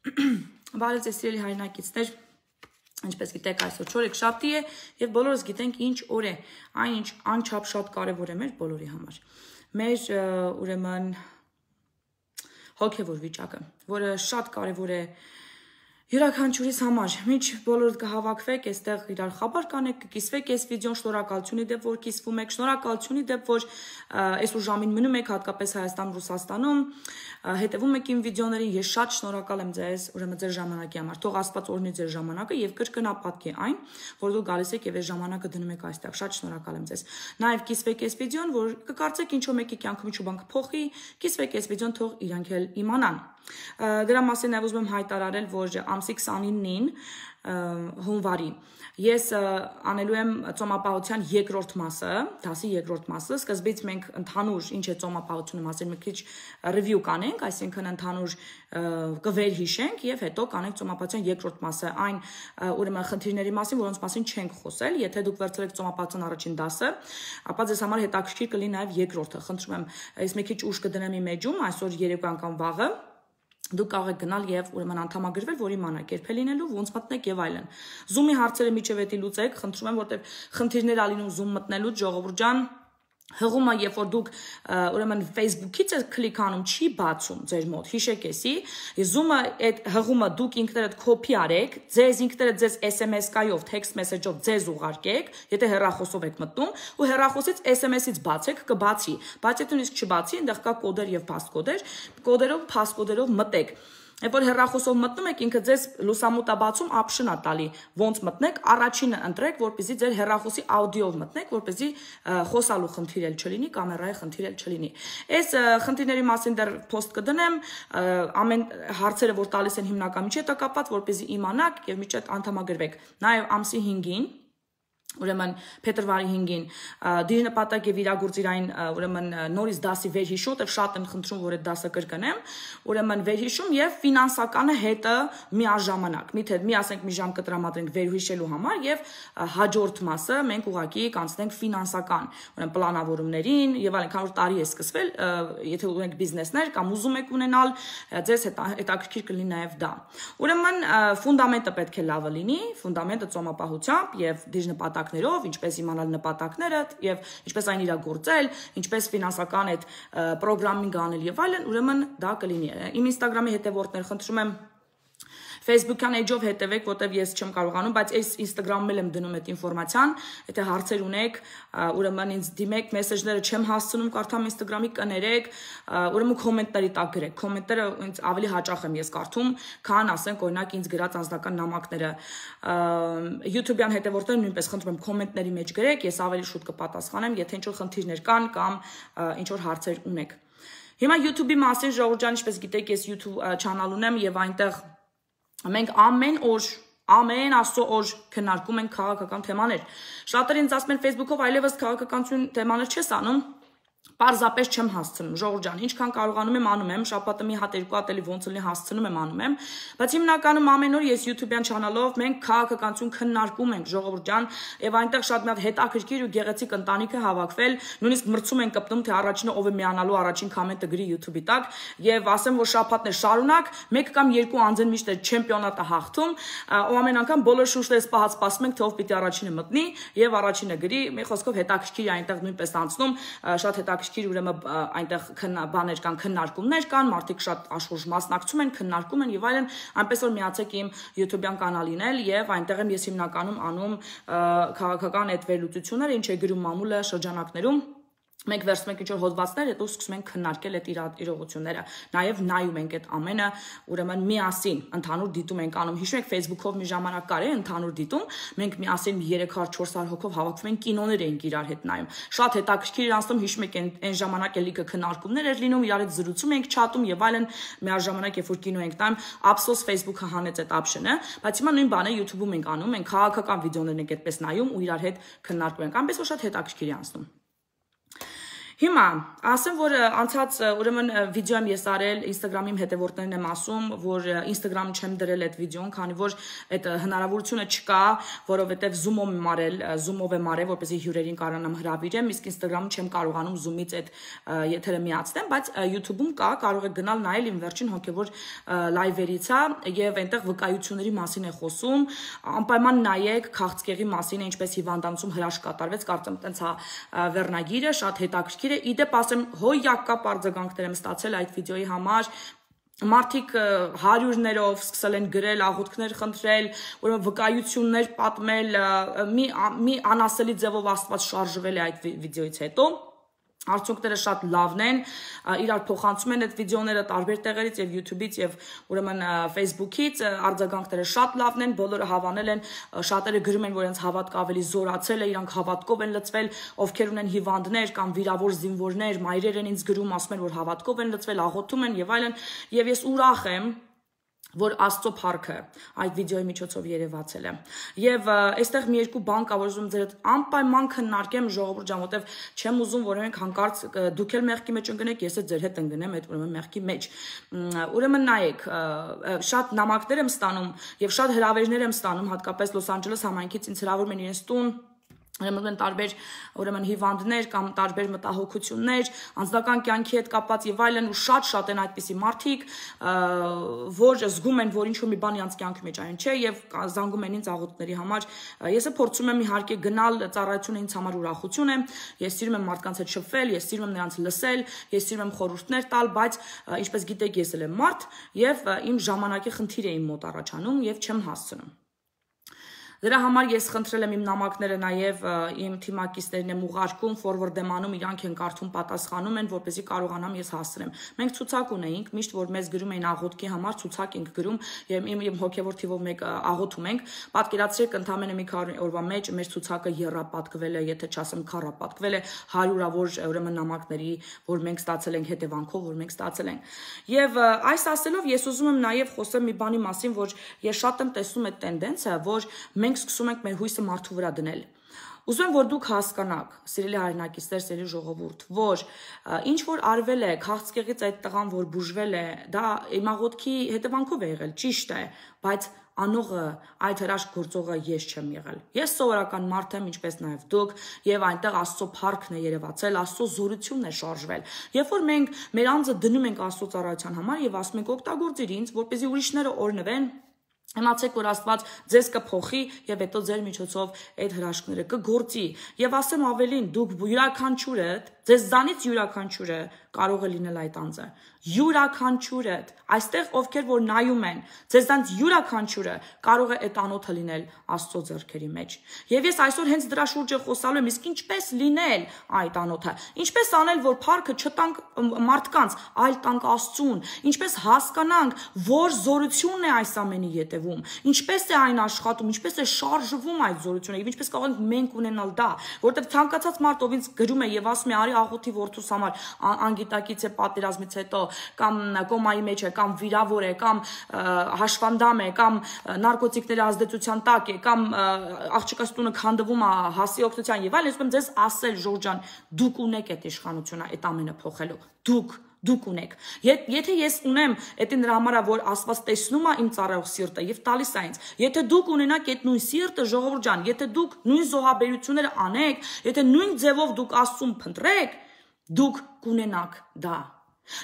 Բարև ձեզ սիրելի հայրենակիցներ, ինչպես գիտեք, այսօր չորեքշաբթի է եւ բոլորս գիտենք ինչ օր է, այն ինչ անչափ շատ կարեւոր է մեր բոլորի համար։ Մեր ուրեմն հոգեվոր վիճակը, որը շատ կարեւոր է յուրաքանչյուրիս համար, միջ բոլորդ կհավաքվեք, այստեղ իրար խաբար կանեք, կկիսվեք այս վիդեոն, շնորհակալություն դեպ որ կիսվում եք, շնորհակալություն դեպ որ այսօր ժամին մնում եք, հատկապես Հայաստան, Ռուսաստանում, հետևում եք իմ վիդեոներին, ես շատ շնորհակալ եմ ձեզ, ուրեմն ձեր ժամանակի համար, թող Աստված օրհնի ձեր ժամանակը եւ կրկնապատկի այն, որ դուք գալիս եք եւ այս ժամանակը դնում եք այստեղ, շատ շնորհակալ եմ ձեզ։ Նաեւ կիսվեք այս վիդեոն, որ կկարծեք ինչու մեկի կյանքում ինչու բան կփոխի, կիսվեք այս վիդեոն, թող իրանք էլ իմանան։ Դրա մասին նաև ուզում եմ հայտարարել, որ ամսի 29-ին հունվարի ես անելու եմ ծոմապահության երկրորդ մասը, դասի երկրորդ մասը, սկզբից մենք ընդհանուր ինչ է ծոմապահությունը մասին մի քիչ ռիվյու կանենք, այսինքն ընդհանուր կվերհիշենք եւ հետո կանենք ծոմապահության երկրորդ մասը, այն ուրեմն խնդիրների մասին, որոնց մասին չենք խոսել, եթե դուք վերցրել եք ծոմապահության առաջին դասը, ապա ձեզ համար հետաքրքիր կլինի նաեւ երկրորդը, խնդրում եմ, ես մի քիչ ուշ կդնեմ իմ էջում, այսօր երեկոյան կամ վաղը դուք կարող եք գնալ եւ ուրեմն անդամագրվել, որ իմանաք երբ է լինելու, ոնց մտնեք եւ այլն։ Zoom-ի հարցերը միջև էտի լուծեք, խնդրում եմ, որտեվ խնդիրներ ա լինում Zoom մտնելուց, ժողովուրդ ջան, հղումը, երբ որ դուք ուրեմն Facebook-ից եք կլիկանում, չի բացում ձեր մոտ, հիշեք էսի, Zoom-ը այդ հղումը դուք ինքներդ կոպի արեք, ձեզ ինքներդ ձեզ SMS-կայով, text message-ով ձեզ ուղարկեք, եթե հեռախոսով եք մտնում, ու հեռախոսից SMS-ից բացեք, կբացի, բայց եթե նույնիսկ չբացի, այնտեղ կա կոդեր եւ փաստկոդեր, կոդերով, փաստկոդերով մտեք։ Երբ որ հեռախոսով մտնում եք, ինքը ձեզ լուսամուտա բացում option-ա տալի, ոնց մտնեք, առաջինը ընտրեք, որպեսզի ձեր հեռախոսի աուդիոով մտնեք, որպեսզի խոսալու խնդիր էլ չլինի, կամերայի խնդիր էլ չլինի։ Այս խնդիրների մասին դեռ post կդնեմ, ամեն հարցերը, որ տալիս են հիմնական միջի հետ կապված, որպեսզի իմանաք եւ միջի հետ անդամագրվեք։ Նաեւ ամսի 5-ին ուրեմն փետրվարի 5-ին դիրնպատակ եւ իրագործիրային ուրեմն նորից դասի վերհիշում, որտեղ շատ են խնդրում, որ այդ դասը կրկնեմ, ուրեմն վերհիշում եւ ֆինանսականը հետը միաժամանակ։ Միթե մի ասենք մի ժամ կտրամադրենք վերհիշելու համար եւ հաջորդ մասը մենք ուղակի կանցնենք ֆինանսական, ուրեմն պլանավորումներին եւ այլն, քանի որ տարի է սկսվել, եթե ունեք բիզնեսներ կամ ուզում եք ունենալ, ձեզ հետաքրքիր կլինի նաեւ դա։ Ուրեմն ֆունդամենտը պետք է լավը լինի, ֆունդամենտը ծոմապահությամբ եւ դիրնպատակ ինչպես իմանալ նպատակները եւ ինչպես այն իրագործել, ինչպես ֆինանսական այդ պրոգրամինգ անել եւ այլն, ուրեմն դա կլինի։ Իմ Instagram-ի հետևորդներ խնդրում եմ Facebook-յան էջով հետևեք, որտեվ ես չեմ կարողանում, բայց այս Instagram-ում եմ դնում այդ ինֆորմացիան, եթե հարցեր ունեք, ուրեմն ինձ դիմեք, մեսեջները չեմ հասցնում, կարդամ Instagram-ի կներեք, ուրեմն կոմենտների տակ գրեք, կոմենտները ինձ ավելի հաճախ եմ ես կարդում, քան ասենք օրինակ ինձ գրած անձնական նամակները։ YouTube-յան հետևորդները նույնպես խնդրում եմ կոմենտների մեջ գրեք, ես ավելի շուտ կպատասխանեմ, եթե ինչ-որ խնդիրներ կան կամ ինչ-որ հարցեր ունեք։ Հիմա YouTube-ի մասին ժողովուրդ ջան, ինչպես գիտեք, ես YouTube channel ունեմ եւ այնտեղ մենք ամեն աստծո օր քննարկում ենք քաղաքական թեմաներ։ Շատերը ինձ ասում են Facebook-ով այլևս քաղաքականություն թեմաներ չես անում, պարզապես չեմ հասցնում, ժողովուրդ ջան, ինչքան կարողանում եմ անում եմ, շաբաթը մի հատ երկու հատ էլի ոնց լինի հասցնում եմ անում եմ, բայց հիմնականում ամեն օր ես YouTube-յան channel-ով մենք քաղաքականություն քննարկում ենք, ժողովուրդ ջան, եւ այնտեղ շատ մի հատ հետաքրքիր ու գեղեցիկ ընտանիք է հավաքվել, նույնիսկ մրցում են կպտում, թե առաջինը ով է միանալու առաջին կոմենտը գրի YouTube-ի տակ, եւ ասեմ, որ շաբաթներ շարունակ մեկ կամ երկու անձեն միշտ է չեմպիոնատը հաղթում, ու ամեն անգամ բոլոր շուշտերս պահած սպասում ենք, թե ով պիտի առաջինը մտնի եւ առաջինը գրի, մի խոսքով հետաքրքիր է այնտեղ նույնպես անցնում, շատ հետաքրքիր ուրեմն այնտեղ բաներ կան, քննարկումներ կան, մարդիկ շատ աշխուժ մասնակցում են, քննարկում են եւ այլն, այնպես որ միացեք իմ YouTube-յան կանալին էլ եւ այնտեղ եմ ես հիմնականում անում քաղաքական այդ վերլուծությունները, ինչ է գրում մամուլը շրջանակներում։ Մենք վերցնում ենք ինչ-որ հոդվածներ, հետո սկսում ենք քննարկել այդ իրողությունները։ Նաև նայում ենք այդ ամենը, ուրեմն միասին ընդհանուր դիտում ենք անում։ Հիշում եք Facebook-ով մի ժամանակ կար է ընդհանուր դիտում, մենք միասին 300-400 հոգով հավաքվում ենք կինոներ էինք իրար հետ նայում։ Շատ հետաքրքիր էր անցնում, հիշում եք այն ժամանակ էլիկը քննարկումներ էր լինում, իրար հետ զրուցում ենք, չաթում եւ այլն, միաժամանակ երբ որ կինո ենք նայում, ափսոս Facebook-ը հանեց այդ option-ը, բայց հիմա նույն բանը YouTube-ում ենք անում, մենք քաղաքական վիդեոներ ենք այդպես նայում ու իրար հետ քննարկում ենք։ Այնպես որ շատ հետաքրքիր է անցնում։ Հիմա, ասեմ, որ անցած ուրեմն վիդեոյում ես արել Instagram-իմ հետևորդներն եմ ասում, որ Instagram-ը չեմ դրել այդ վիդեոն, քանի որ այդ հնարավորությունը չկա, որովհետև Zoom-ով եմ արել, որպեսզի հյուրերին կարողանամ հրավիրեմ, իսկ Instagram-ում չեմ կարողանում Zoom-ից այդ եթերը միացնեմ, բայց YouTube-ում կա, կարող եք գնալ նայել իմ վերջին հոգևոր լայվերից է եւ այնտեղ վկայությունների մասին է խոսում, անպայման նայեք քաղցկեղի մասին, ինչպես հիվանդանոցում հրաշք կատարվեց, կարծեմ տենց է վերնագիրը, շատ հետաքրքիր է, իդեպ ասեմ հոյակապ արձագանքներ եմ ստացել այդ վիդեոյի համար, մարդիկ հարյուրներով սկսել են գրել, աղոթքներ խնդրել, ուրեմն վկայություններ պատմել, մի անասելի ձևով Աստված շարժվել է այդ վիդեոից հետո, արդյունքները շատ լավն են, իրար փոխանցում են այդ վիդեոները տարբեր տեղերից եւ YouTube-ից եւ ուրեմն Facebook-ից, արձագանքները շատ լավն են, բոլորը հավանել են, շատերը գրում են, որ իրենց հավատքը ավելի զորացել է, իրանք հավատքով են լցվել, ովքեր ունեն հիվանդներ կամ վիրավոր զինվորներ, մայրեր են ինձ գրում, ասում են, որ հավատքով են լցվել, աղոթում են եւ այլն, եւ ես ուրախ եմ, որ Աստծո փառքը այդ վիդեոյի միջոցով երևացել է։ Եվ այստեղ մի երկու բան կա, որ ուզում ձեր հետ անպայման քննարկեմ ժողովուրդ ջան, որտեվ չեմ ուզում, որ մենք հանկարծ դուք էլ մեղքի մեջ ընկնեք, ես էլ ձեր հետ ընկնեմ այդ ուրեմն մեղքի մեջ։ Ուրեմն նայեք, շատ նամակներ եմ ստանում եւ շատ հրավերներ եմ ստանում, հատկապես Լոս Անջելես համայնքից ինձ հրավիրում են իրենց տուն ուրեմն տարբեր ուրեմն հիվանդներ կամ տարբեր մտահոգություններ, անձնական կյանքի հետ կապված եւ այլն ու շատ են այդպիսի մարդիկ, որ զգում են, որ ինչ-որ մի բան իրենց կյանքի մեջ այն չէ եւ զանգում են ինձ աղոթքների համար։ Ես փորձում եմ իհարկե գնալ, ծառայությունը ինձ համար ուրախություն է, ես սիրում եմ մարդկանց հետ շփվել, ես սիրում եմ նրանց լսել, ես սիրում եմ խորհուրդներ տալ, բայց ինչպես գիտեք, ես էլ եմ մարդ եւ իմ ժամանակի խնդիր է իմ մոտ առաջանում եւ չեմ հասցնում։ Դրա համար ես խնդրել եմ իմ նամակները նաև իմ թիմակիցներին եմ ուղարկում, forward եմ անում, իրանք են կարդում, պատասխանում են, որպեսզի կարողանամ ես հասցնեմ։ Մենք ցուցակ ունեինք, միշտ որ մեզ գրում էին աղոթքի համար, ցուցակ ենք գրում, եւ իմ հոգեվոր թիվով մեկ աղոթում ենք։ Պատկերացրեք, ընդամենը մի քանի օրվա մեջ մեր ցուցակը եռապատկվել է, եթե չասեմ քառապատկվել է հարյուրավոր ուրեմն նամակների, որ մենք ստացել ենք հետևանքով, որ մենք ստացել ենք։ Եվ այս ասելով ես ուզում եմ նաև խոսել մի բանի մասին, որ ես շատ եմ տեսնում այդ տենդենսը, որ մենք սկսում ենք մեր հույսը մարդու վրա դնել։ Ուզում եմ, որ դուք հասկանաք, սիրելի հայրենակիցներ, սիրելի ժողովուրդ, որ ինչ որ արվել է, քաղցկեղից այդ տղան, որ բուժվել է, դա իմ աղոթքի հետևանքով է եղել, ճիշտ է, բայց անողը, այդ հրաշք գործողը ես չեմ եղել։ Ես սովորական մարդ եմ, ինչպես նաև դուք, եւ այնտեղ Աստծո փառքն է երևացել, Աստծո զորությունն է շարժվել։ Երբ որ մենք մեր անձը դնում ենք Աստծո ծառայության համար եւ ասում ենք օգտագործիր ինձ, որպեսզի ուրիշները օրնվեն, Իմացեք, որ Աստված ձեզ կփոխի եւ հետո ձեր միջոցով այդ հրաշքները կգործի։ Եվ ասեմ ավելին, դուք յուրաքանչյուրդ, ձեզանից յուրաքանչյուրը կարող է լինել այդ անձը։ Յուրաքանչյուրը, այստեղ ովքեր որ նայում են, ձեզանից յուրաքանչյուրը կարող է այդ անոթը լինել Աստծո ձեռքերի մեջ։ Եվ ես այսօր հենց դրա շուրջ խոսալու եմ, իսկ ինչպես լինել այդ անոթը։ Ինչպես անել, որ փառքը չտանք մարդկանց, այլ տանք Աստծուն։ Ինչպես հասկանանք, որ զորությունն է այս ամենի ետևում։ Ինչպես է այն աշխատում, ինչպես է շարժվում այդ զորությունը եւ ինչպես կարող ենք մենք ունենալ դա, որտեղ ցանկացած մարդ ով ինձ գրում է եւ ասում է արի աղոթի որդուս համար, անգիտակից է պատերազմից հետո, կամ կոմայի մեջ է, կամ վիրավոր է, կամ հաշվանդամ է, կամ նարկոտիկների ազդեցության տակ է, կամ աղջկաս տունը քանդվում է հասի օգնության եւ այլն, ես ձեզ ասել Ժորժ ջան, դուք ունեք այդ իշխանությունը այդ ամենը փոխելու։ Դուք ունեք։ Եթե ես ունեմ, դա նրա համար է, որ Աստված տեսնում է իմ ծառայող սիրտը եւ տալիս է ինձ։ Եթե դուք ունենաք այդ նույն սիրտը, ժողովուրդ ջան, եթե դուք նույն զոհաբերությունները անեք, եթե նույն ձևով դուք Աստծուն փնտրեք, դուք կունենաք դա։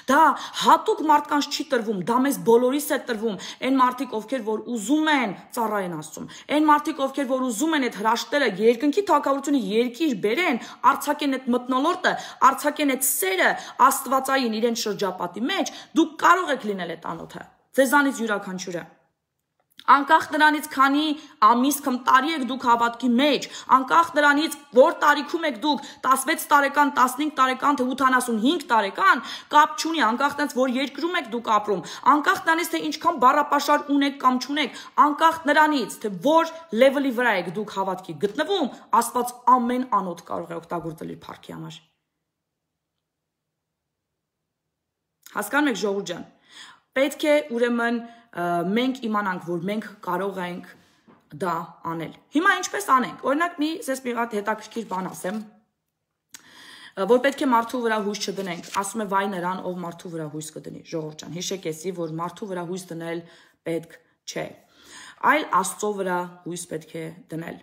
Դա հատուկ մարդկանց չի տրվում, դա մեզ բոլորիս է տրվում, այն մարդիկ, ովքեր որ ուզում են ծառայեն Աստծուն, այն մարդիկ, ովքեր որ ուզում են այդ հրաշքները երկնքի թագավորությունը երկիր բերեն, արձակեն այդ մթնոլորտը, արձակեն այդ սերը աստվածային իրեն շրջապատի մեջ, դուք կարող եք լինել այդ անոթը, ձեզանից յուրաքանչյուրը։ Անկախ նրանից քանի ամիս կամ տարի եք դուք հավատքի մեջ, անկախ նրանից որ տարիքում եք դուք 16 տարեկան, 15 տարեկան, թե 85 տարեկան, կապ չունի, անկախ նրանից որ երկրում եք դուք ապրում, անկախ նրանից թե ինչքան բառապաշար ունեք կամ չունեք, անկախ նրանից թե որ լեվելի վրա եք դուք հավատքի գտնվում, Աստված ամեն անոթ կարող է օգտագործել իր փառքի համար։ Հասկանում եք ժողովուրդ ջան, պետք է ուրեմն մենք իմանանք, որ մենք կարող ենք դա անել։ Հիմա ինչպես անենք։ Օրինակ մի հատ հետաքրքիր բան ասեմ։ որ պետք է մարդու վրա հույս չդնենք, ասում է վայ նրան, ով մարդու վրա հույս կդնի, ժողովուրդ ջան, հիշեք էսի, որ մարդու վրա հույս դնել պետք չէ, այլ Աստծո վրա հույս պետք է դնել։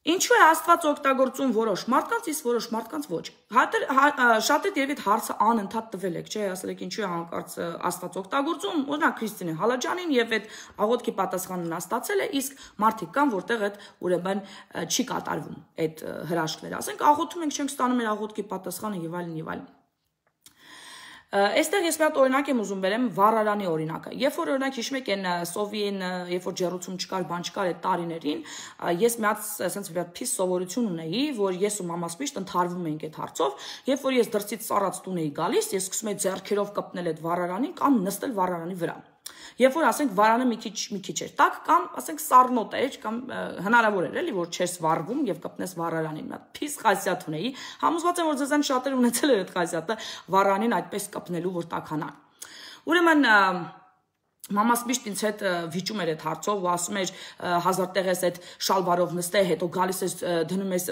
Ինչու է Աստված օգտագործում որոշ մարդկանց, իսկ որոշ մարդկանց ոչ։ Շատ երևի հարցը անընդհատ տվել եք, չէ, ասել եք ինչու է հանկարծ Աստված օգտագործում, օրինակ Քրիստինե Հալաջանին եւ այդ աղոթքի պատասխանը նա ստացել է, իսկ մարդիկ կան, որտեղ այդ ուրեմն չի կատարվում այդ հրաշքները։ Ասենք աղոթում ենք, չենք ստանում մեր աղոթքի պատասխանը եւ այլն եւ այլն։ Այստեղ ես մի հատ օրինակ եմ ուզում բերեմ վառարանի օրինակը։ Երբ որ օրինակ հիշում եք այն սովին, երբ որ ջեռուցում չկար, բան չկար այդ տարիներին, ես մի հատ ասենց մի հատ փիս սովորություն ունեի, որ ես ու մամաս միշտ ընթարվում էինք այդ հարցով, երբ որ ես դրսից սառած տուն էի գալիս, ես սկսում էի ձեռքերով կպնել այդ վառարանին կամ նստել վառարանի վրա։ Երբ որ ասենք վարանը մի քիչ էր տաք կամ ասենք սառնոտ էր կամ հնարավոր էր էլի որ չես վառվում եւ կպնես վառարանին, մի հատ փիս խասյատ ունեի, համոզված եմ որ ձեզան շատեր ունեցել էր այդ խասյատը վառարանին այդպես կպնելու որ տաքանա։ Ուրեմն մամաս միշտ ինձ հետ վիճում էր այդ հարցով ու ասում էր հազար տեղ ես այդ շալվարով նստե, հետո գալիս ես դնում ես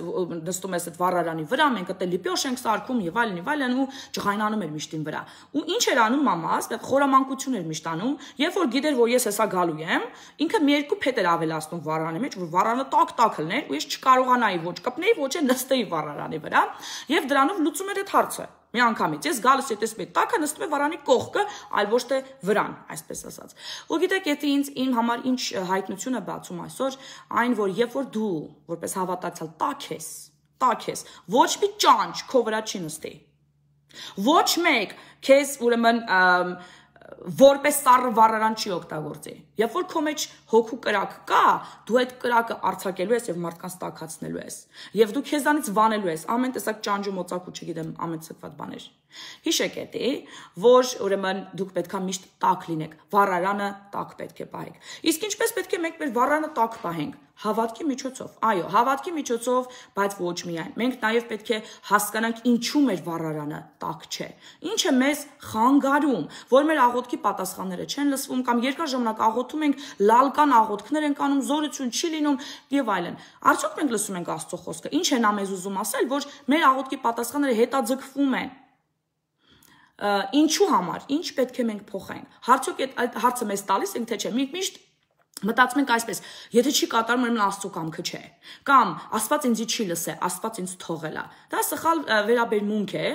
նստում ես այդ վառարանի վրա, մենք այդտեղ լիպյոշ ենք սարքում եւ այլն ու ջղայնանում էր միշտ ին վրա։ Ու ինչ էր անում մամաս, այդ խորամանկություն էր միշտ անում, երբ որ գիտեր որ ես հեսա գալու եմ, ինքը մի երկու փետ էր ավելացնում վառարանի մեջ, որ վառարանը տակ լներ ու ես չկարողանայի ոչ կպնեի, ոչ էլ նստեի վառարանի վրա եւ դրանով լուծում էր այդ հարցը։ Մի անգամից ես գալիս եմ տեսնում եմ տակը նստում է վարանի կողքը, այլ ոչ թե վրան, այսպես ասած։ Ու գիտեք, եթե ինձ իմ համար ինչ հայտնություն է բացում այսօր, այն որ երբ որ դու որպես հավատացյալ տակ ես, ոչ մի ճանճ քո վրա չի նստի։ Ոչ մեկ քեզ ուրեմն որպես սառը վառարան չի օգտագործի։ Երբ որ քո մեջ հոգու կրակ կա, դու այդ կրակը արձակելու ես եւ մարդկանց տաքացնելու ես։ Եվ դու քեզանից վանելու ես ամեն տեսակ ճանճու մոծակու, չգիտեմ, ամեն ցկված բաներ։ Հիշեք էտի, որ ուրեմն դուք պետքա միշտ տաք լինեք, վառարանը տաք պետք է պահեք։ Իսկ ինչպես պետք է մենք մեր վառարանը տաք պահենք։ Հավատքի միջոցով, այո, հավատքի միջոցով, բայց ոչ միայն։ Մենք նաև պետք է հասկանանք ինչու մեր վառարանը տաք չէ։ Ինչը մեզ խանգարում, որ մեր աղոթքի պատասխանները չեն լսվում կամ երկար ժամանակ աղոթում ենք, լալկան աղոթքներ ենք անում, զորություն չի լինում եւ այլն։ Արդյոք մենք լսում ենք Աստծո խոսքը։ Ինչ է նա մեզ ուզում ասել, որ մեր աղոթքի պատասխանները հետաձգվում են։ Ինչու համար, ինչ պետք է մենք փոխենք։ Արդյոք այդ հարցը մեզ տալիս ենք թե չէ։ Մենք միշտ մտածում ենք այսպես, եթե չի կատարում ուրեմն Աստծո կամքը չէ, կամ Աստված ինձ չի լսե, Աստված ինձ թողել է։ Դա սխալ վերաբերմունք է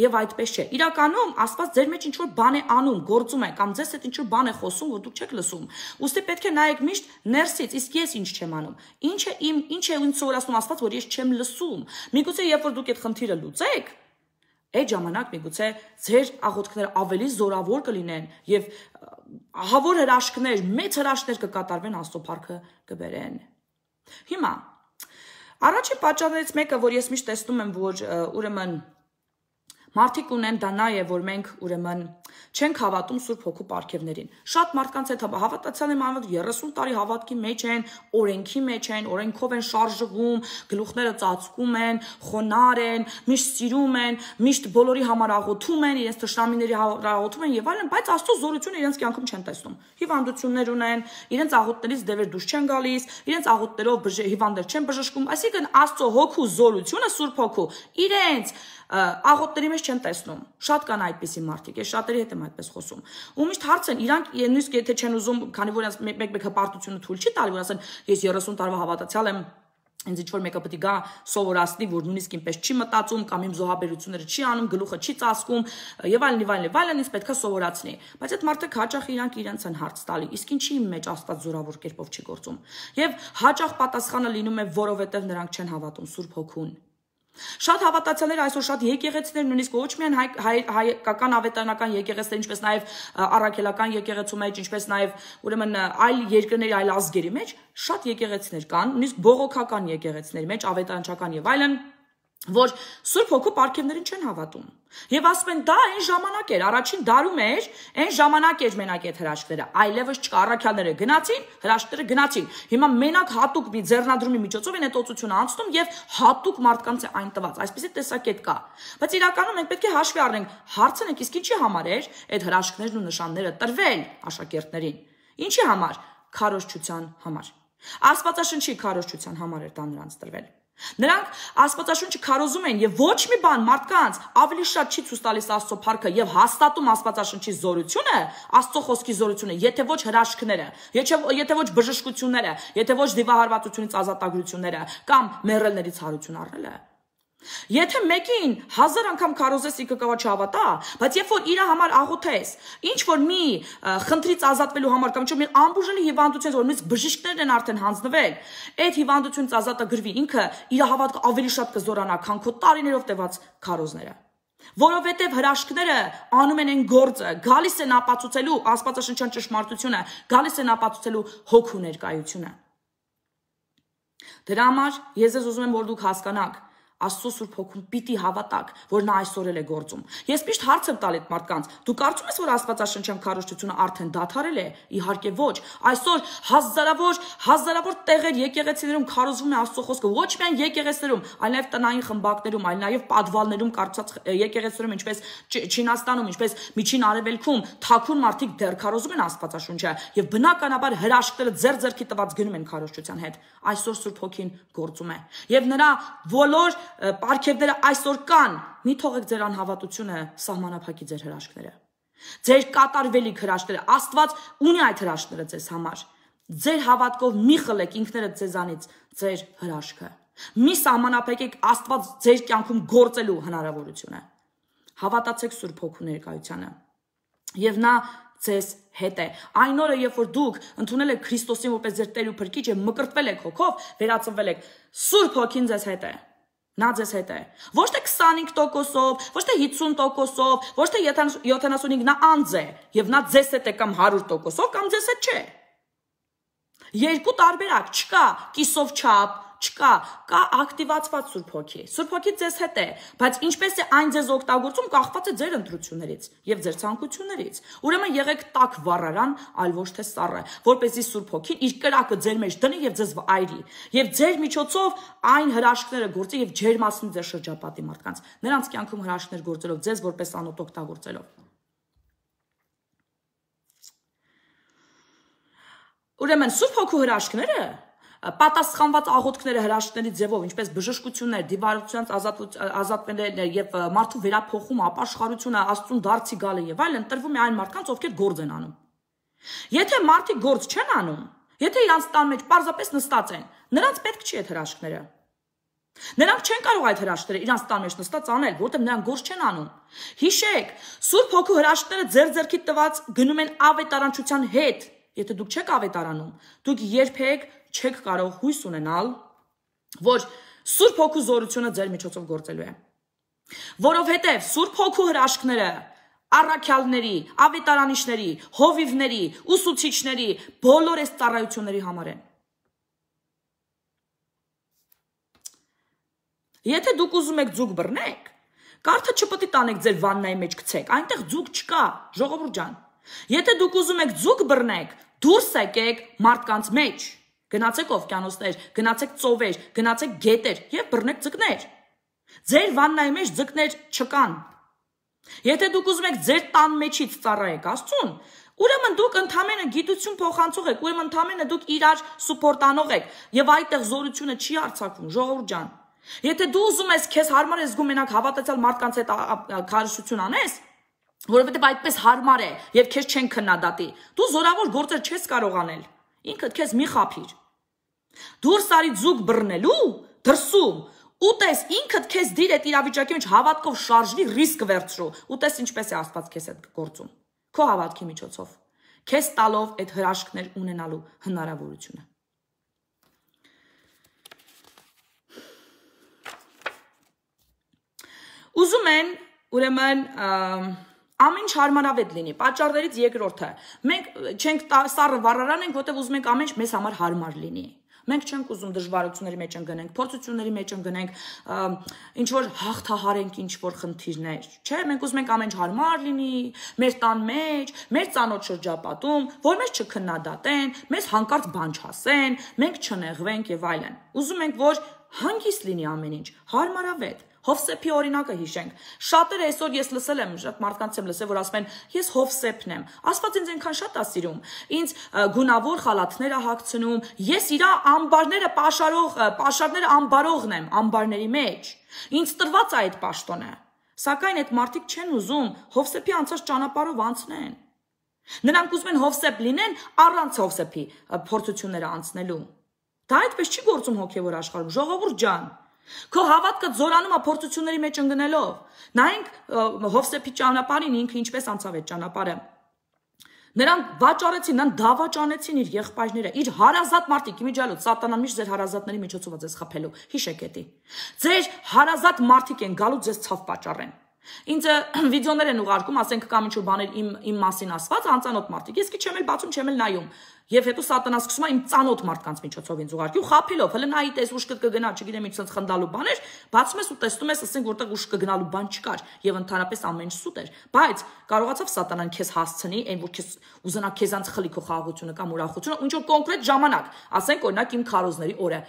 եւ այդպես չէ։ Իրականում Աստված ձեր մեջ ինչ որ բան է անում, գործում է, կամ ձեզ հետ ինչ որ բան է խոսում, որ դուք չեք լսում։ Ուստի պետք է նայեք միշտ ներսից, իսկ ես ինչ չեմ անում։ Ինչ է ինձ սովորացնում Աստված, որ ես չեմ լսում։ Միգուցե երբ որ դուք այդ խնդիրը լուծեք, այդ ժամանակ միգուցե ձեր աղոթքները ավելի զորավոր կլինեն եւ ահավոր հրաշքներ, մեծ հրաշքներ կկատարվեն Աստծո փառքը կբերեն։ Հիմա առաջին պատճառներից մեկը, որ ես միշտ տեսնում եմ, որ ուրեմն մարդիկ ունեն դա նա է, որ մենք ուրեմն չենք հավատում Սուրբ Հոգու պարգևներին։ Շատ մարդկանց հետ հավատացյալ եմ անում 30 տարի հավատքի մեջ են, օրենքի մեջ են, օրենքով են շարժվում, գլուխները ծածկում են, խոնար են, միշտ սիրում են, միշտ բոլորի համար աղոթում են, իրենց թշնամիների համար աղոթում են եւ այլն, բայց Աստծո զորությունը իրենց կյանքում չեն տեսնում։ Հիվանդություններ ունեն, իրենց աղոթներից դևեր դուրս չեն գալիս, իրենց աղոթներով հիվանդներ չեն բժշկում, այսինքն Աստծո Հոգու զորությունը, Սուրբ Հոգու, իրենց աղոթների մեջ չեն տեսնում։ Շատ կան այդպիսի մարդիկ, ես շատերի հետ եմ այդպես խոսում։ Ու միշտ հարց են, իրանք նույնիսկ եթե չեն ուզում, քանի որ մեկ հպարտությունը թույլ չի տալի, որ ասեն, ես 30 տարվա հավատացյալ եմ, ինձ ինչ որ մեկը պետք է գա սովորացնի, որ նույնիսկ ինպես չի մտածում կամ իմ զոհաբերությունները չի անում, գլուխը չի ծածկում եւ այլն, ինձ պետքա սովորացնի։ Բայց այդ մարդիկ հաճախ իրանք իրենց են հարց տալի, իսկ ինչի իմ մեջ Աստված զորավոր կերպով չի գործում։ Եվ հաճախ պատասխանը լինում է, որովհետեւ նրանք չեն հավատում Սուրբ Հոգուն։ Շատ հավատացյալներ այսօր շատ եկեղեցիներ, նույնիսկ ոչ միայն հայկական ավետարանական եկեղեցիներ, ինչպես նաև առաքելական եկեղեցու մեջ, ինչպես նաև ուրեմն այլ երկրների, այլ ազգերի մեջ, շատ եկեղեցիներ կան, նույնիսկ բողոքական եկեղեցիների մեջ, ավետարանչական եւ այլն, որ Սուրբ Հոգու պարգևներին չեն հավատում։ Եվ ասում են, դա այն ժամանակ էր, առաջին դարում էր, այն ժամանակ էր մենակ այդ հրաշքները, այլևս չկա, առաքյալները գնացին, հրաշքները գնացին։ Հիմա մենակ հատուկ մի ձեռնադրումի միջոցով են այդ օծությունը անցնում եւ հատուկ մարդկանց է այն տված։ Այսպեսի տեսակետ կա։ Բայց իրականում մենք պետք է հաշվի առնենք, հարցնենք, իսկ ինչի համար էր այդ հրաշքներն ու նշանները տրվել աշակերտներին։ Ինչի համար։ Քարոզչության համար։ Աստվածաշնչի քարոզչության համար էր դա նրանց տրվել։ Նրանք Աստվածաշունչը քարոզում են եւ ոչ մի բան մարդկանց ավելի շատ չի ցույց տալիս Աստծո փառքը եւ հաստատում Աստվածաշունչի զորությունը, Աստծո խոսքի զորությունը, եթե ոչ հրաշքները, եթե ոչ բժշկությունները, եթե ոչ դիվահարվածությունից ազատագրությունները կամ մեռելներից հարություն առնելը։ Եթե մեկին 1000 անգամ քարոզես ինքը կվա չհավատա, բայց երբ որ իր համար աղոթես, ինչ որ մի խնդրից ազատվելու համար կամ ինչ-որ մի ամբուժելի հիվանդությունից, որ մյուս բժիշկներն են արդեն հանձնվել, այդ հիվանդությունից ազատագրվի, ինքը իր հավատքը ավելի շատ կզորանա, քան քո տարիներով տևած քարոզները։ Որովհետև հրաշքները անում են այն գործը, գալիս են ապացուցելու աստվածաշնչյան ճշմարտությունը, գալիս են ապացուցելու հոգու ներկայությունը։ Դրա համար ես ուզում եմ, որ դուք հասկանաք, Աստծո Սուրբ Հոգուն պիտի հավատաք, որ նա այսօր էլ է գործում։ Ես միշտ հարց եմ տալ այդ մարդկանց. դու կարծում ես, որ աստվածաշնչյան քարոզությունը արդեն դադարել է։ Իհարկե ոչ։ Այսօր հազարավոր տեղեր եկեղեցիներում քարոզվում է Աստծո խոսքը, ոչ միայն եկեղեցիներում, այլ նաև տնային խմբակներում, այլ նաև պատվալներում կարծած եկեղեցիներում, ինչպես Չինաստանում, ինչպես Միջին Արևելքում, թաքուն մարդիկ դեռ քարոզում են աստվածաշունչը եւ բնականաբար հրաշքները ձեռքի տված գնում են քարոզչության հետ։ Այսօր Սուրբ Հոգին գործում է եւ նրա բոլոր պարգևները այսօր կան, մի թողեք ձեր անհավատությունը սահմանափակի ձեր հրաշքները, ձեր կատարվելիք հրաշքները, Աստված ունի այդ հրաշքները ձեզ համար, ձեր հավատքով մի խլեք ինքներդ ձեզանից ձեր հրաշքը, մի սահմանափակեք Աստված ձեր կյանքում գործելու հնարավորությունը, հավատացեք Սուրբ Հոգու ներկայությանը եւ նա ձեզ հետ է, այն օրը երբ որ դուք ընդունել եք Քրիստոսին որպես ձեր Տեր ու Փրկիչ եւ մկրտվել եք հոգով, վերածնվել եք, Սուրբ Հոգին ձեզ հետ է։ Նա ձեզ հետ է։ Ոչ թե 25%-ով, ոչ թե 50%-ով, ոչ թե 75%, նա անձ է, եւ նա ձեզ հետ է կամ 100%-ով, կամ ձեզ հետ չէ։ Երկու տարբերակ չկա, կիսով չափ, չկա, կա ակտիվացված Սուրբ Հոգի։ Սուրբ Հոգի ձեզ հետ է, բայց ինչպես է այն ձեզ օգտագործում, կախված է ձեր ընտրություններից եւ ձեր ցանկություններից։ Ուրեմն եղեք տաք վառարան, այլ ոչ թե սառը, որպեսզի Սուրբ Հոգին իր կրակը ձեր մեջ դնի եւ ձեզ այրի, եւ ձեր միջոցով այն հրաշքները գործի եւ ջերմացնի ձեր շրջապատի մարդկանց։ Նրանց կյանքում հրաշքներ գործելով, ձեզ որպես անոթ օգտագործելով։ Ուրեմն Սուրբ Հոգու հրաշքները պատասխանված աղոթքները հրաշքների ձևով, ինչպես բժշկություններ, դիվարությունից ազատվելը եւ մարդու վերափոխումը, ապաշխարությունը, Աստծուն դարձի գալը եւ այլն տրվում է այն մարդկանց, ովքեր գործ են անում։ Եթե մարդիկ գործ չեն անում, եթե իրանց տան մեջ պարզապես նստած են, նրանց պետք չի այդ հրաշքները։ Նրանք չեն կարող այդ հրաշքները իրանց տան մեջ նստած անել, որտեղ նրանք գործ չեն անում։ Հիշեք, Սուրբ Հոգու հրաշքները ձեր ձեռքի տված գնում են ավետարանչության հետ։ Եթե դուք չեք ավետարանում, դուք երբեք չեք կարող հույս ունենալ, որ Սուրբ Հոգու զորությունը ձեր միջոցով գործելու է։ Որովհետև Սուրբ Հոգու հրաշքները առաքյալների, ավետարանիչների, հովիվների, ուսուցիչների, բոլոր այս ծառայությունների համար են։ Եթե դուք ուզում եք ձուկ բռնեք, կարթը չպետք է տանեք ձեր վաննայի մեջ գցեք, այնտեղ ձուկ չկա, ժողովուրդ ջան։ Եթե դուք ուզում եք ձուկ բռնեք, դուրս եկեք մարդկանց մեջ, գնացեք օվկիանոսներ, գնացեք ծովեր, գնացեք գետեր եւ բռնեք ձկներ։ Ձեր վաննայի մեջ ձկներ չկան։ Եթե դուք ուզում եք ձեր տան մեջից ծառայեք Աստծուն, ուրեմն դուք ընդամենը գիտություն փոխանցող եք, ուրեմն ընդամենը դուք իրար սուպորտանող եք եւ այդտեղ զորությունը չի արձակվում, ժողովուրդ ջան։ Եթե դու ուզում ես քեզ հարմար ես զգում մենակ հավատացյալ մարդկանց հետ քարոզություն անես, որովհետև այդպես հարմար է եւ քեզ չեն քննադատի, դու զորավոր գործեր չես կարող անել, ինքդ քեզ մի խափիր։ Դուրս արի ձուկ բռնելու, դրսում, ուտես ինքդ քեզ դիր այդ իրավիճակի մեջ հավատքով շարժվի, ռիսկ վերցրու, ուտես ինչպես է Աստված քեզ հետ գործում, քո հավատքի միջոցով, քեզ տալով այդ հրաշքներ ունենալու հնարավորությունը։ Ուզում են, ուրեմն, ամեն ինչ հարմարավետ լինի, պատճառներից երկրորդը, մենք չենք սառը վառարան ենք, որտեղ ուզում ենք ամեն ինչ մեզ համար հարմար լինի, մենք չենք ուզում դժվարությունների մեջ ընկնենք, փորձությունների մեջ ընկնենք, ինչ-որ հաղթահարենք ինչ-որ խնդիրներ, չէ, մենք ուզում ենք ամեն ինչ հարմար լինի, մեր տան մեջ, մեր ծանոթ շրջապատում, որ մեզ չքննադատեն, մեզ հանկարծ բան չասեն, մենք չնեղվենք եւ այլն, ուզում ենք, որ հանգիստ լինի ամեն ինչ, հարմարավետ, Հովսեփի օրինակը հիշենք։ Շատերը այսօր ես լսել եմ, շատ մարդկանց եմ լսել, որ ասում են, ես Հովսեփն եմ։ Աստված ինձ այնքան շատ է սիրում։ Ինձ գունավոր խալաթներ է հագցնում, ես իր ամբարները պաշարները ամբարողն եմ, ամբարների մեջ։ Ինձ տրված է այդ պաշտոնը։ Սակայն այդ մարդիկ չեն ուզում Հովսեփի անցած ճանապարհով անցնեն։ Նրանք ուզում են Հովսեփ լինեն առանց Հովսեփի փորձությունները անցնելու։ Դա այդպես չի գործում հոգևոր աշխարհում, ժողովուրդ ջան։ Քո հավատքը զորանում է փորձությունների մեջ ընկնելով։ Նայենք Հովսեփի ճանապարհին ինքը ինչպես անցավ այդ ճանապարհը։ Նրան վաճառեցին, նրան դավաճանեցին իր եղբայրները, իր հարազատ մարդիկ, իմիջիալոց սատանան միշտ ձեր հարազատների միջոցով է ձեզ խփելու։ Հիշեք էդի։ Ձեր հարազատ մարդիկ են գալու ձեզ ցավ պատճառեն։ Ինձ վիդեոներ են ուղարկում, ասենք կամ ինչ-որ բաներ իմ մասին ասված, անծանոթ մարդիկ։ Ես քիչ եմ էլ բացում, չեմ էլ նայում։ Եվ հետո սատանան սկսում է իմ ծանոթ մարդկանց միջոցով ինձ ուղարկի ու խափելով, հələ նայի տես ուշ կգնա, չգիտեմ ինչ sense խնդալու բաներ, բացում ես ու տեսնում ես, ասենք որտեղ ուշ կգնալու բան չկար եւ ընդհանրապես ամեն ինչ սուտ էր, բայց կարողացավ սատանան քեզ հասցնի, այն որ քեզ ուզենա քեզանց խլի քո խաղաղությունը կամ ուրախությունը, ինչ որ կոնկրետ ժամանակ, ասենք օրինակ իմ քարոզների օրը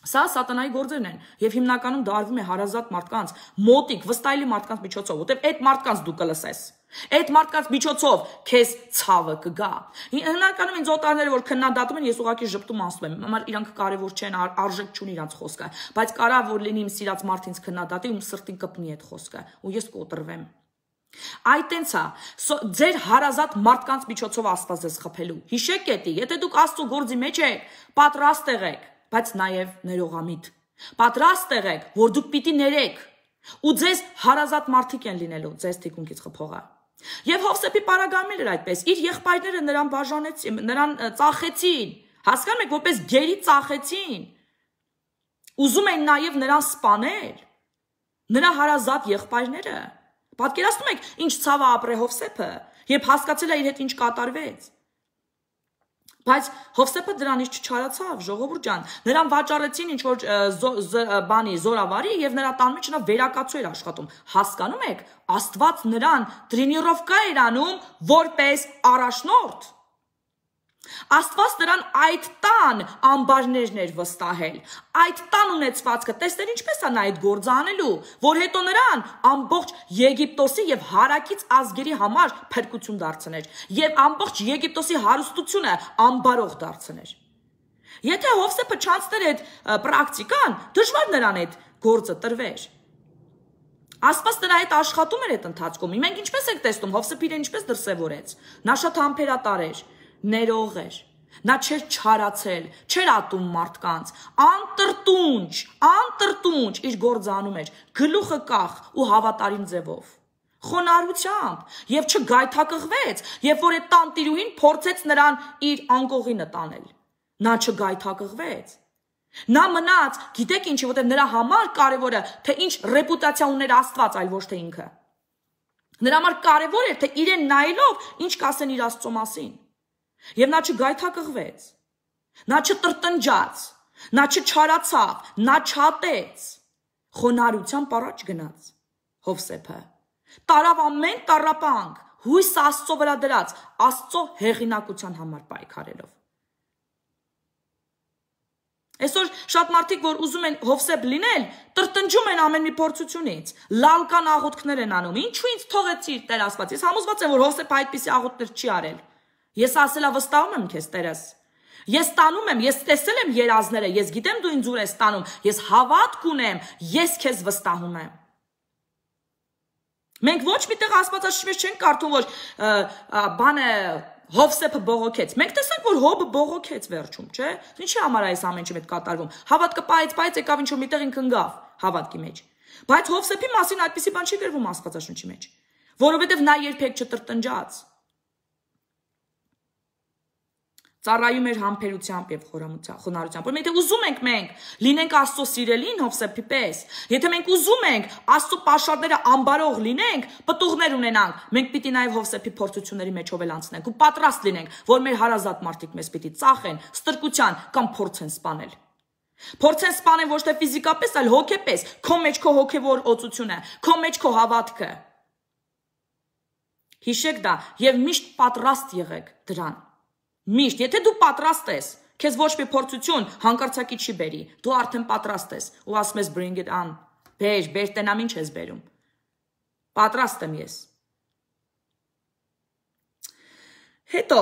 Սա սատանայի գործերն են եւ հիմնականում դա արվում է հարազատ մարդկանց, մոտիկ, վստահելի մարդկանց միջոցով, որտեղ այդ մարդկանց դու կլսես։ Այդ մարդկանց միջոցով քեզ ցավը կգա։ Հիմնականում ինձ օտարները որ քննադատում են, ես ուղղակի ժպտում ասում եմ, համար իրանք կարևոր չեն, արժեք չունի իրանք խոսքը, բայց կարա որ լինի իմ սիրած մարդ ինձ քննադատի, ում սրտին կպնի այդ խոսքը, ու ես կոտրվեմ։ Այդ տենց է, ձեր հարազատ մարդկանց միջոցով Աստված ձեզ խփելու։ Հիշեք էդի, եթե դուք Աստծո գործի մեջ եք, պատրաստ եղեք, բայց նաև ներողամիտ։ Պատրաստ եղեք, որ դուք պիտի ներեք, ու ձեզ հարազատ մարդիկ են լինելու ձեզ թիկունքից խփողը։ Եվ Հովսեփի պարագայում էր այդպես, իր եղբայրները նրան բաժանեցին, նրան ծախեցին, հասկանում եք, որպես գերի ծախեցին։ Ուզում են նաև նրան սպանել, նրա հարազատ եղբայրները։ Պատկերացնում եք, ինչ ցավը ապրե Հովսեփը, երբ հասկացել է իր հետ ինչ կատարվեց։ Բայց Հովսեփը դրանից չչարացավ, ժողովուրդ ջան, նրան վաճառեցին ինչ որ բանի զորավարի եւ նրա տան մեջ նա վերակացու էր աշխատում։ Հասկանում եք, Աստված նրան տրենիրովկա էր անում որպես առաջնորդ։ Աստված նրան այդ տան ամբարներն էր վստահել, այդ տան ունեցվածքը, տեսներ ինչպես է նա այդ գործը անելու, որ հետո նրան ամբողջ Եգիպտոսի եւ հարակից ազգերի համար փրկություն դարձներ, եւ ամբողջ Եգիպտոսի հարստությունը ամբարող դարձներ։ Եթե Հովսեփը չանցներ այդ պրակտիկան, դժվար նրան այդ գործը տրվեր։ Աստված նրա հետ աշխատում էր այդ ընթացքում։ Մենք ինչպես ենք տեսնում, Հովսեփը իրեն ինչպես դրսևորեց։ Նա շատ համբերատար էր, ներող էր, նա չէր չարացել, չէր ատում մարդկանց, անտրտունջ իր գործը անում էր, գլուխը կախ ու հավատարիմ ձևով, խոնարհությամբ եւ չգայթակղվեց, երբ որ այդ տանտիրուհին փորձեց նրան իր անկողինը տանել, նա չգայթակղվեց, նա մնաց, գիտեք ինչի, որտեղ նրա համար կարևորը, թե ինչ ռեպուտացիա ուներ Աստված, այլ ոչ թե ինքը, նրա համար կարևոր էր, թե իրեն նայելով ինչ կասեն իր Աստծո մասին։ Եվ նա չգայթակղվեց, նա չտրտնջաց, նա չչարացավ, նա չատեց, խոնարհությամբ առաջ գնաց Հովսեփը, տարավ ամեն տառապանք, հույս Աստծո վրա դրած, Աստծո հեղինակության համար պայքարելով։ Այսօր շատ մարդիկ, որ ուզում են Հովսեփ լինել, տրտնջում են ամեն մի փորձությունից, լալկան աղոթքներ են անում, ինչու ինձ թողեցիր Տեր Աստված, ես համոզված եմ, որ Հովսեփը այդպիսի աղոթքներ չի արել։ Ես ասելա վստահում եմ քեզ Տերս։ Ես տանում եմ, ես տեսել եմ երազները, ես գիտեմ դու ինձ ուր ես տանում, ես հավատք ունեմ, ես քեզ վստահում եմ։ Մենք ոչ միտեղ Աստվածաշնչի մեջ չենք կարդում, որ բանը Հովսեփը բողոքեց։ Մենք տեսանք, որ Հոբը բողոքեց վերջում, չէ՞։ Ինչի համար այս ամեն ինչը մեծ կատարվում։ Հավատքը պայծ եկավ ինչ որ միտեղ ինքն ընկավ հավատքի մեջ։ Բայց Հովսեփի մասին այդպիսի բան չի գրվում Աստվածաշնչի մեջ, որովհետև նա երբեք չտրտնջաց։ Ծառայում էր համբերությամբ եւ խոնարհությամբ։ Որ եթե ուզում ենք մենք լինենք Աստծո սիրելին Հովսեփի պես, եթե մենք ուզում ենք Աստծո պաշարները ամբարող լինենք, պտուղներ ունենանք, մենք պիտի նաեւ Հովսեփի փորձությունների մեջով էլ անցնենք ու պատրաստ լինենք, որ մեր հարազատ մարդիկ մեզ պիտի ծախեն, ստրկության կամ փորձեն սպանել։ Փորձեն սպանել ոչ թե ֆիզիկապես, այլ հոգեպես, քո մեջ քո հոգեվոր օծությունը, քո մեջ քո հավատքը։ Հիշեք դա եւ միշտ պատրաստ եղեք դրան։ Միշտ, եթե դու պատրաստ ես, քեզ ոչ մի փորձություն հանկարծակի չի բերի, դու արդեն պատրաստ ես ու ասում ես bring it on, Բեր, տենամ ինչ ես բերում։ Պատրաստ եմ ես։ Հետո,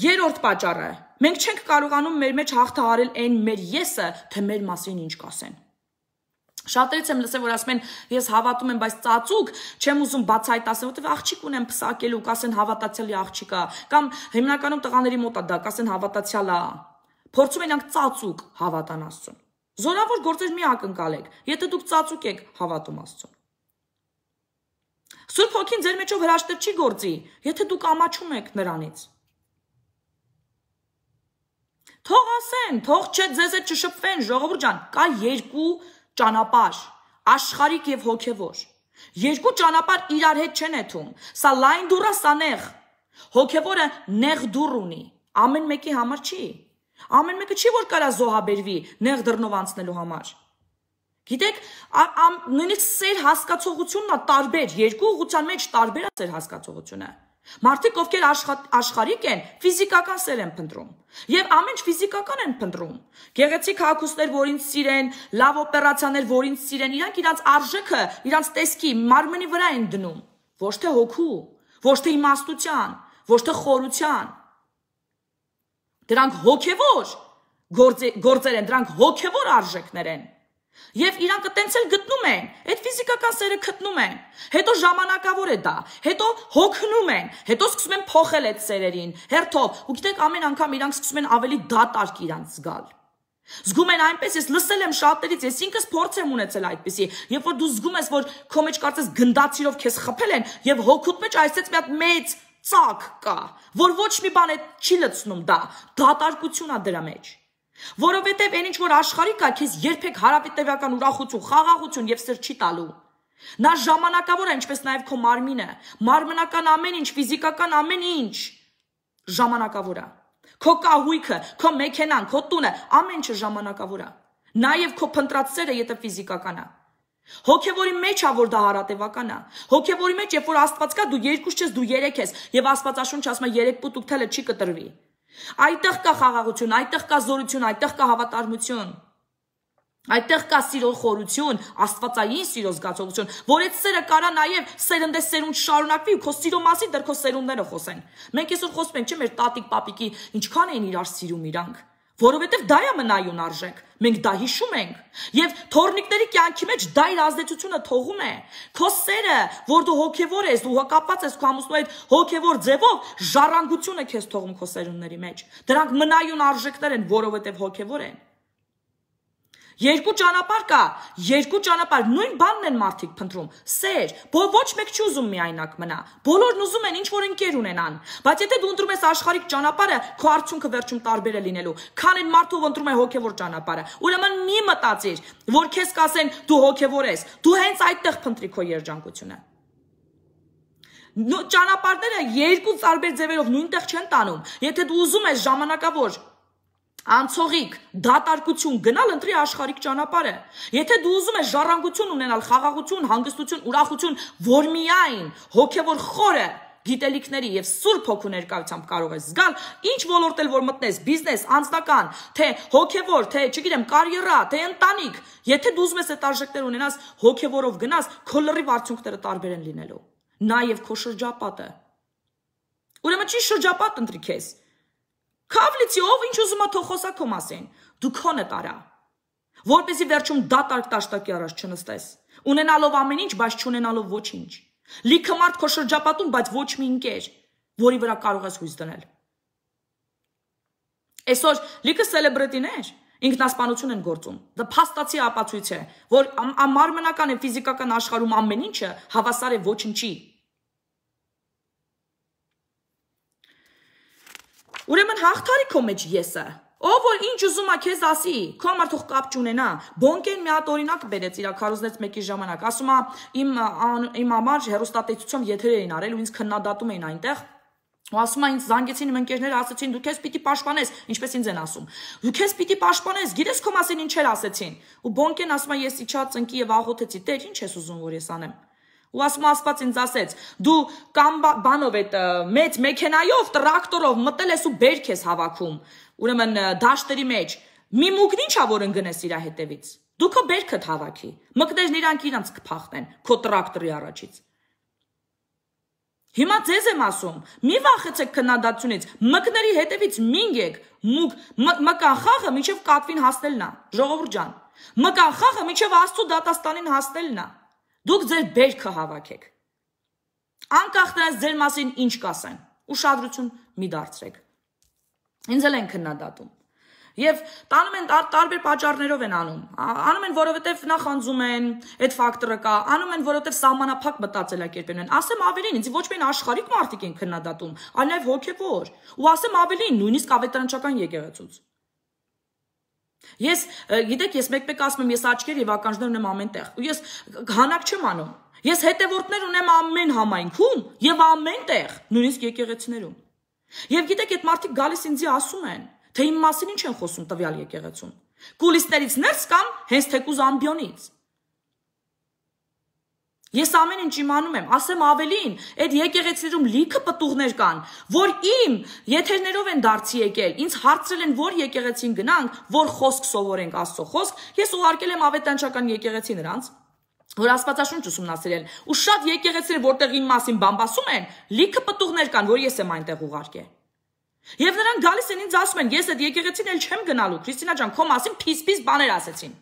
երրորդ պատճառը, մենք չենք կարողանում մեր մեջ հաղթահարել այն մեր եսը, թե մեր մասին ինչ կասեն։ Շատերից եմ լսել, որ ասում են, ես հավատում եմ, բայց ծածուկ չեմ ուզում բացահայտ ասել, որտեղ աղջիկ ունեմ փսակելու, կասեն հավատացյալի աղջիկա, կամ հիմնականում տղաների մոտ է դա, կասեն հավատացյալ է։ Փորձում են իրանք ծածուկ հավատան Աստծուն։ Զորավոր գործեր մի ակնկալեք, եթե դուք ծածուկ եք հավատում Աստծուն։ Սուրբ Հոգին ձեր մեջով հրաշքներ չի գործի, եթե դուք ամաչում եք նրանից։ Թող ասեն, թող ձեզ հետ չշփվեն, ժողովուրդ ջան, կա երկու ճանապարհ, աշխարհիկ եւ հոգեվոր։ Երկու ճանապարհ իրար հետ չեն եթում։ Սա լայն դուռ է, սա նեղ։ Հոգեվորը նեղ դուռ ունի, ամեն մեկի համար չի։ Ամեն մեկը չի որ կարա զոհաբերվի նեղ դռնով անցնելու համար։ Գիտեք, նույնիսկ սեր հասկացողությունն է տարբեր, երկու ուղղության մեջ տարբեր է սեր հասկացողությունը։ Մարդիկ, ովքեր աշխարհիկ են, ֆիզիկական սեր են փնտրում։ Եվ ամեն ինչ ֆիզիկական են փնտրում։ Գեղեցիկ հագուստներ, որ ինձ սիրեն, լավ օպերացիաներ, որ ինձ սիրեն, իրանք իրանց արժեքը, իրանց տեսքի, մարմնի վրա են դնում, ոչ թե հոգու, ոչ թե իմաստության, ոչ թե խորության։ Դրանք հոգևոր գործեր են, դրանք հոգևոր արժեքներ են։ Եվ իրանք տենց էլ գտնում են, այդ ֆիզիկական սերը գտնում են, հետո ժամանակավոր է դա, հետո հոգնում են, հետո սկսում են փոխել այդ սերերին, հերթով, ու գիտեք ամեն անգամ իրանք սկսում են ավելի դատարկ իրանք զգալ։ Զգում են այնպես, ես լսել եմ շատերից, ես ինքս փորձ եմ ունեցել այդպիսի, երբ որ դու զգում ես, որ քո մեջ կարծես գնդացիրով քեզ խփել են, եւ հոգուտ մեջ այսպես մի հատ մեծ ծակ կա, որ ոչ մի բան չի լցնում դա, դատարկություն է դրա մեջ։ Որովհետև այն ինչ որ աշխարհիկ է, քեզ երբեք հարավիտևական ուրախություն, խաղաղություն եւ սեր չի տալու։ Նա ժամանակավոր է, ինչպես նաեւ քո մարմինը, մարմնական ամեն ինչ, ֆիզիկական ամեն ինչ ժամանակավոր է։ Քո կահույքը, քո մեքենան, քո տունը, ամեն ինչը ժամանակավոր է։ Նաեւ քո փնտրած սերը, եթե ֆիզիկական է։ Հոգևորի մեջ է, որ դա հարատևական է։ Հոգևորի մեջ, երբ որ Աստված կա, դու երկուս չես, դու երեք ես, եւ Աստվածաշունչը ասում է երեք պուտ ուքթելը չի կտրվի։ Այդտեղ կա խաղաղություն, այդտեղ կա զորություն, այդտեղ կա հավատարմություն, այդտեղ կա սիրո խորություն, աստվածային սիրո զգացողություն, որ այդ սերը կարա նաև սերնդես սերունդ շարունակվի ու քո սիրո մասին դեռ քո սերունդները խոսեն։ Մենք այսօր խոսում ենք, չէ՞, մեր տատիկ պապիկի ինչքան էին իրար սիրում իրանք, որովհետև դա է մնայուն արժեք, մենք դա հիշում ենք, եւ թորնիկների կյանքի մեջ դա իր ազդեցությունը թողում է, քո սերը, որ դու հոգևոր ես, դու կապված ես քո ամուսնու հետ հոգևոր ձևով, ժառանգություն է քեզ թողում քո սերունդների մեջ, դրանք մնայուն արժեքներ են, որովհետև հոգևոր են։ Երկու ճանապարհ կա, երկու ճանապարհ, նույն բանն են մարդիկ փնտրում, սեր, ոչ մեկ չի ուզում միայնակ մնա, բոլորն ուզում են ինչ-որ ընկեր ունենան, բայց եթե դու ընտրում ես աշխարհիկ ճանապարհը, քո արդյունքը վերջում տարբեր է լինելու, քան այն մարդը, ով ընտրում է հոգևոր ճանապարհը, ուրեմն մի մտածիր, որ քեզ կասեն դու հոգևոր ես, դու հենց այդտեղ փնտրի քո երջանկությունը։ Ճանապարհները երկու տարբեր ձևերով նույնտեղ չեն տանում, եթե դու ուզում ես ժամանակավոր անցողիկ, դատարկություն գնալ ընտրի աշխարհիկ ճանապարհը։ Եթե դու ուզում ես ժառանգություն ունենալ, խաղաղություն, հանգստություն, ուրախություն, որ միայն հոգևոր խորը գիտելիքների եւ սուրբ հոգու ներկայությամբ կարող ես զգալ, ինչ ոլորտ էլ որ մտնես, բիզնես, անձնական, թե հոգևոր, թե, չգիտեմ, կարիերա, թե ընտանիք, եթե դու ուզում ես այդ արժեքներ ունենաս, հոգևորով գնաս, քո լրիվ արդյունքները տարբեր են լինելու։ Նաեւ քո շրջապատը։ Ուրեմն չի շրջապատ ընտրի քեզ։ Քավլիցի ով ինչ ուզում է թող խոսա քո մասին, դու քոնը տարա, որպեսզի վերջում դատարկ տաշտակի առաջ չնստես, ունենալով ամեն ինչ, բայց չունենալով ոչինչ, լիքը մարդ քո շրջապատում, բայց ոչ մի ընկեր, որի վրա կարող ես հույս դնել։ Այսօր լիքը սելեբրիտիներ ինքնասպանություն են գործում, դա փաստացի ապացույց է, որ մարմնական եւ ֆիզիկական աշխարհում ամեն ինչը հավասար է ոչնչի։ Ուրեմն հաղթարի քո մեջ եսը, ով որ ինչ ուզում է քեզ ասի, քո համար թող կապ չունենա, Բոնկեն մի հատ օրինակ բերեց իր քարոզնեց մեկի ժամանակ, ասում է իմ համար հեռուստատեսությամբ եթեր էին արել ու ինձ քննադատում էին այնտեղ, ու ասում է ինձ զանգեցին իմ ընկերները ասեցին դու քեզ պիտի պաշտպանես, ինչպես ինձ են ասում, դու քեզ պիտի պաշտպանես, գիտես քո մասին ինչեր ասեցին, ու Բոնկեն ասում է ես իջա ծնկի եւ աղոթեցի, Տեր ինչ ես ուզում որ ես անեմ։ Ու ասում Աստված ինձ ասեց, դու կամ բանով այդ մեծ մեքենայով, տրակտորով մտել ես ու բերք ես հավաքում, ուրեմն դաշտերի մեջ, Մի մուգն ինչա որ ընկնես իր հետևից։ Դու քո բերքդ հավաքի։ Մկներն իրանք իրանց կփախնեն քո տրակտորի առաջից։ Հիմա ձեզ եմ ասում, մի վախեցեք քննադատությունից, մկների հետևից մինգեք, մկան խաղը մինչև կատվին հասնելն է, ժողովուրդ ջան։ Մկան խաղը մինչև Աստծո դատաստանին հասնելն է։ Դուք ձեր բերքը հավաքեք։ Անկախ նրանից ձեր մասին ինչ կասեն, ուշադրություն մի դարձրեք։ Ինձ էլ են քննադատում։ Եվ տանում են տարբեր պատճառներով են անում։ Անում են, որովհետև նախանձում են, այդ ֆակտորը կա, անում են, որովհետև սահմանափակ մտածելակերպ են։ Ասեմ ավելին, ինձ ոչ միայն աշխարհիկ մարդիկ են քննադատում, այլ նաև հոգևոր։ Ու ասեմ ավելին, նույնիսկ ավետարանչական եկեղեցուց։ Ես, գիտեք, ես մեկ-մեկ ասում եմ, ես աչքեր եւ ականջներ ունեմ ամենտեղ։ Ու ես հանակ չեմ անում։ Ես հետևորդներ ունեմ ամեն համայնքում եւ ամենտեղ, նույնիսկ եկեղեցիներում։ Եվ գիտեք, այդ մարդիկ գալիս ինձի ասում են, թե իմ մասին ինչ են խոսում տվյալ եկեղեցում։ Կուլիսներից ներս կամ հենց թեկուզ ամբիոնից։ Ես ամեն ինչ իմանում եմ, ասեմ ավելին, այդ եկեղեցիներում լիքը պտուղներ կան, որ իմ եթերներով են դարձի եկել, ինձ հարցրել են, որ եկեղեցին գնանք, որ խոսք սովորենք Աստծո խոսք, ես ուղարկել եմ ավետարանչական եկեղեցի նրանց, որ Աստվածաշունչ ուսումնասիրել, ու շատ եկեղեցիներ, որտեղ իմ մասին բամբասում են, լիքը պտուղներ կան, որ ես եմ այնտեղ ուղարկել։ Եվ նրանք գալիս են ինձ ասում են, ես այդ եկեղեցին էլ չեմ գնալու, Քրիստինա ջան, քո մասին փիս-փիս բաներ ասեցին։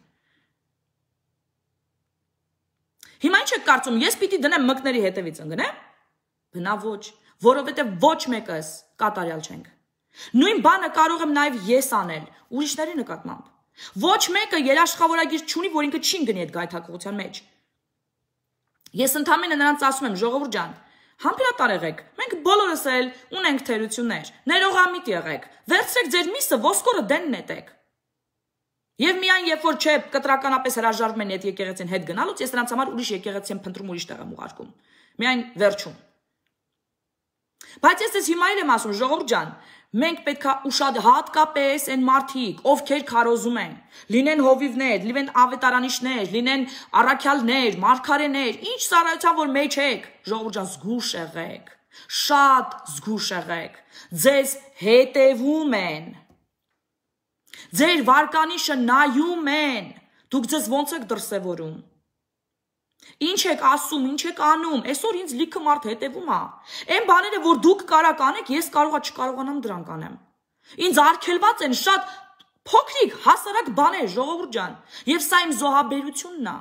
Հիմա ինչ եք կարծում, ես պիտի դնեմ մկների հետևից ընկնեմ։ Բնա ոչ, որովհետև ոչ մեկս կատարյալ չենք։ Նույն բանը կարող եմ նաև ես անել, ուրիշների նկատմամբ։ Ոչ մեկը երաշխավորագիր չունի, որ ինքը չի գնի այդ գայթակղության մեջ։ Ես ընդհանրապես նրանց ասում եմ, ժողովուրդ ջան, համբերատար եղեք, մենք բոլորս էլ ունենք թերություններ, ներողամիտ եղեք, վերցրեք ձեր միսը, ոսկորը դեն նետեք։ Եվ միայն երբ որ չէ կտրականապես հրաժարվում են այդ եկեղեցին հետ գնալուց, ես նրանց համար ուրիշ եկեղեցի եմ փնտրում, ուրիշ տեղ եմ ուղարկում։ Միայն վերջում։ Բայց ես հիմա էլ եմ ասում, ժողովուրդ ջան, մենք պետք է ուշադ հատկապես այն մարդիկ, ովքեր քարոզում են, լինեն հովիվներ, լինեն ավետարանիչներ, լինեն առաքյալներ, մարգարեներ, ինչ ծառայության որ մեջ եք, ժողովուրդ ջան, զգուշ եղեք, շատ զգուշ եղեք, ձեզ հետևում են, ձեր վարկանիշը նայում են, դուք ձեզ ոնց եք դրսևորում, ինչ եք ասում, ինչ եք անում, այսօր ինձ լիքը մարդ հետևում է, այն բաները, որ դուք կարաք անեք, ես չկարողանամ դրանք անեմ, ինձ արգելված են շատ փոքրիկ, հասարակ բաներ, ժողովուրդ ջան, եւ սա իմ զոհաբերությունն է,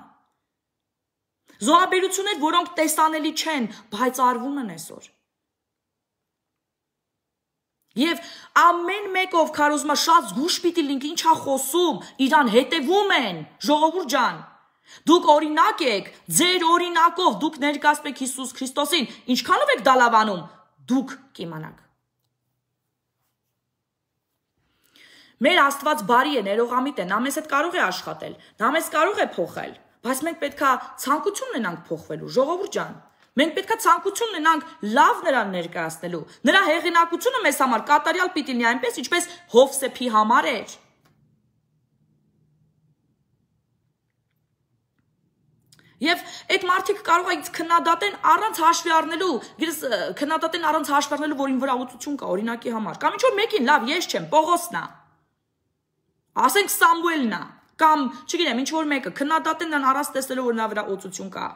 զոհաբերություններ, որոնք տեսանելի չեն, բայց արվում են այսօր, եւ ամեն մեկով քարոզում է շատ զգուշ պիտի լինք, ինչա խոսում, իրան հետևում են, ժողովուրդ ջան, դուք օրինակ եք, ձեր օրինակով դուք ներկայացնում եք Հիսուս Քրիստոսին, ինչքանով եք դա լավանում, դուք կիմանաք։ Մեր Աստված բարի է, ներողամիտ է, նա մեզ հետ կարող է աշխատել, նա մեզ կարող է փոխել, բայց մենք պետքա ցանկություն ունենանք փոխվելու, ժողովուրդ ջան, մենք պետքա ցանկություն ունենանք լավ նրան ներկայացնելու, նրա հեղինակությունը մեզ համար կատարյալ պիտի լինի այնպես, ինչպես Հովսեփի համար էր։ Եվ այդ մարդիկ կարող է քննադատեն առանց հաշվի առնելու, քննադատեն առանց հաշվի առնելու, որ ին վրա ուծություն կա օրինակի համար, կամ ինչ որ մեկին, լավ, ես չեմ, Պողոսն է, ասենք Սամուելն է, կամ չգիտեմ, ինչ որ մեկը, քննադատեն նրան առանց տեսնելու, որ նրա վրա ուծություն կա։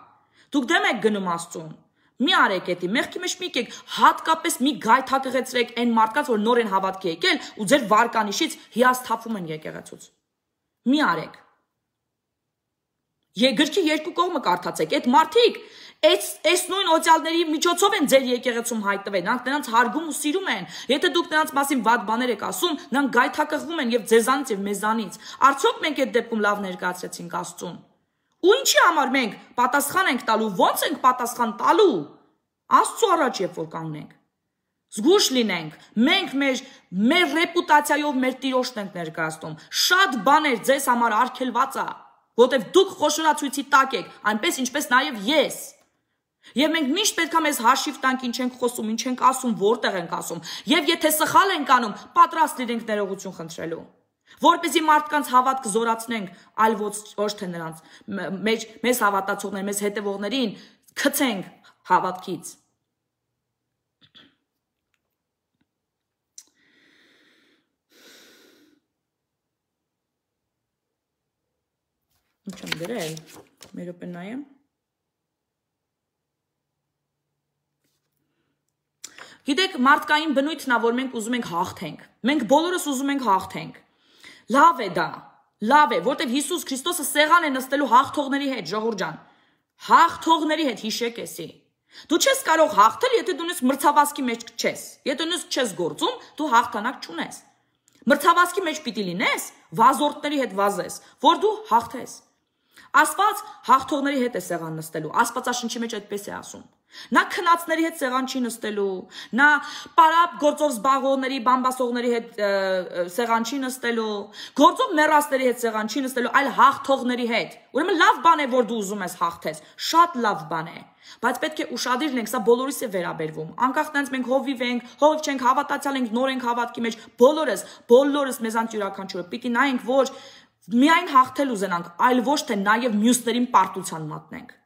Դուք դեմ եք գնում Աստծուն, մի արեք էդի, մեղքի մեջ մի եկեք, հատկապես մի գայթակղեցրեք այն մարդկանց, որ նոր են հավատքի եկել ու ձեր վարկանիշից հիասթափվում են եկեղեցուց։ Մի արեք։ Գրքի երկու կողմը կարդացեք, այդ մարդիկ այս նույն օծյալների միջոցով են ձեր եկեղեցում հայտնվել, նրանց հարգում ու սիրում են, եթե դուք նրանց մասին վատ բաներ եք ասում, նրանք գայթակղվում են եւ ձեզանից եւ մեզանից, արդյոք մենք այդ դեպքում լավ ներկայացրեցինք Աստծուն, ու ինչի համար մենք պատասխան ենք տալու, ո՞նց ենք պատասխան տալու, Աստծո առաջ երբ որ կանգնենք, զգուշ լինենք, մենք մեր ռեպուտացիայով մեր տիրոջն ենք ներկայացնում, շատ բաներ ձեզ համար արգելված է, որտեվ դուք խոշորացույցի տակ եք, այնպես ինչպես նաև ես։ Եվ մենք միշտ պետք է մեզ հաշիվ տանք ինչ ենք խոսում, ինչ ենք ասում, որտեղ ենք ասում, եւ եթե սխալ ենք անում, պատրաստ լինենք ներողություն խնդրելու, որպեսզի մարդկանց հավատքը զորացնենք, այլ ոչ թե նրանց, մեզ հավատացողներ, մեզ հետևողներին գցենք հավատքից։ Ինչ եմ գրել, մի րոպե նայեմ։ Գիտեք, մարդկային բնույթն է, որ մենք ուզում ենք հաղթենք։ Մենք բոլորս ուզում ենք հաղթենք։ Լավ է դա, լավ է, որտեվ Հիսուս Քրիստոսը սեղան է նստելու հաղթողների հետ, ժողովուրդ ջան։ Հաղթողների հետ հիշեք էսի։ Դու չես կարող հաղթել, եթե դու նույնիսկ մրցավազքի մեջ չես։ Եթե նույնիսկ չես գործում, դու հաղթանակ չունես։ Մրցավազքի մեջ պիտի լինես, վազորդների հետ վազես, որ դու հաղթես։ Աստված հաղթողների հետ է սեղան նստելու, Աստվածաշնչի մեջ այդպես է ասում։ Նա քնածների հետ սեղան չի նստելու, նա պարապ գործով զբաղողների, բամբասողների հետ սեղան չի նստելու, գործով մեռածների հետ սեղան չի նստելու, այլ հաղթողների հետ։ Ուրեմն լավ բան է, որ դու ուզում ես հաղթես, շատ լավ բան է, բայց պետք է ուշադիր լինենք, սա բոլորիս է վերաբերվում։ Անկախ նրանից մենք հովիվ չենք, հավատացյալ ենք, նոր ենք հավատքի մեջ, բոլորս մեզանց յուրաքանչյուրը պիտի նայենք, որ միայն հաղթել ուզենանք, այլ ոչ թե նաև մյուսներին պարտության մատնենք։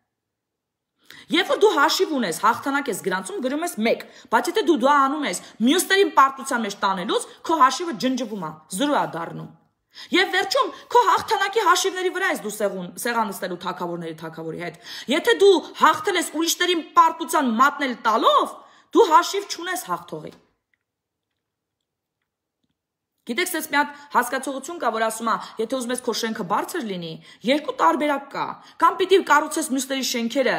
Երբ որ դու հաշիվ ունես, հաղթանակ ես գրանցում, գրում ես 1, բայց եթե դու դա անում ես մյուսներին պարտության մեջ տանելուց, քո հաշիվը ջնջվում է, 0 է դառնում։ Եվ վերջում քո հաղթանակի հաշիվների վրա ես դու սեղան նստելու թագավորի հետ։ Եթե դու հաղթել ես ուրիշներին պարտության մատնել տալով, դու հաշիվ չունես հաղթողի։ Գիտեք, սենց մի հատ հասկացողություն կա, որ ասում է, եթե ուզում ես քո շենքը բարձր լինի, երկու տարբերակ կա։ Կամ պիտի կառուցես մյուսների շենքերը,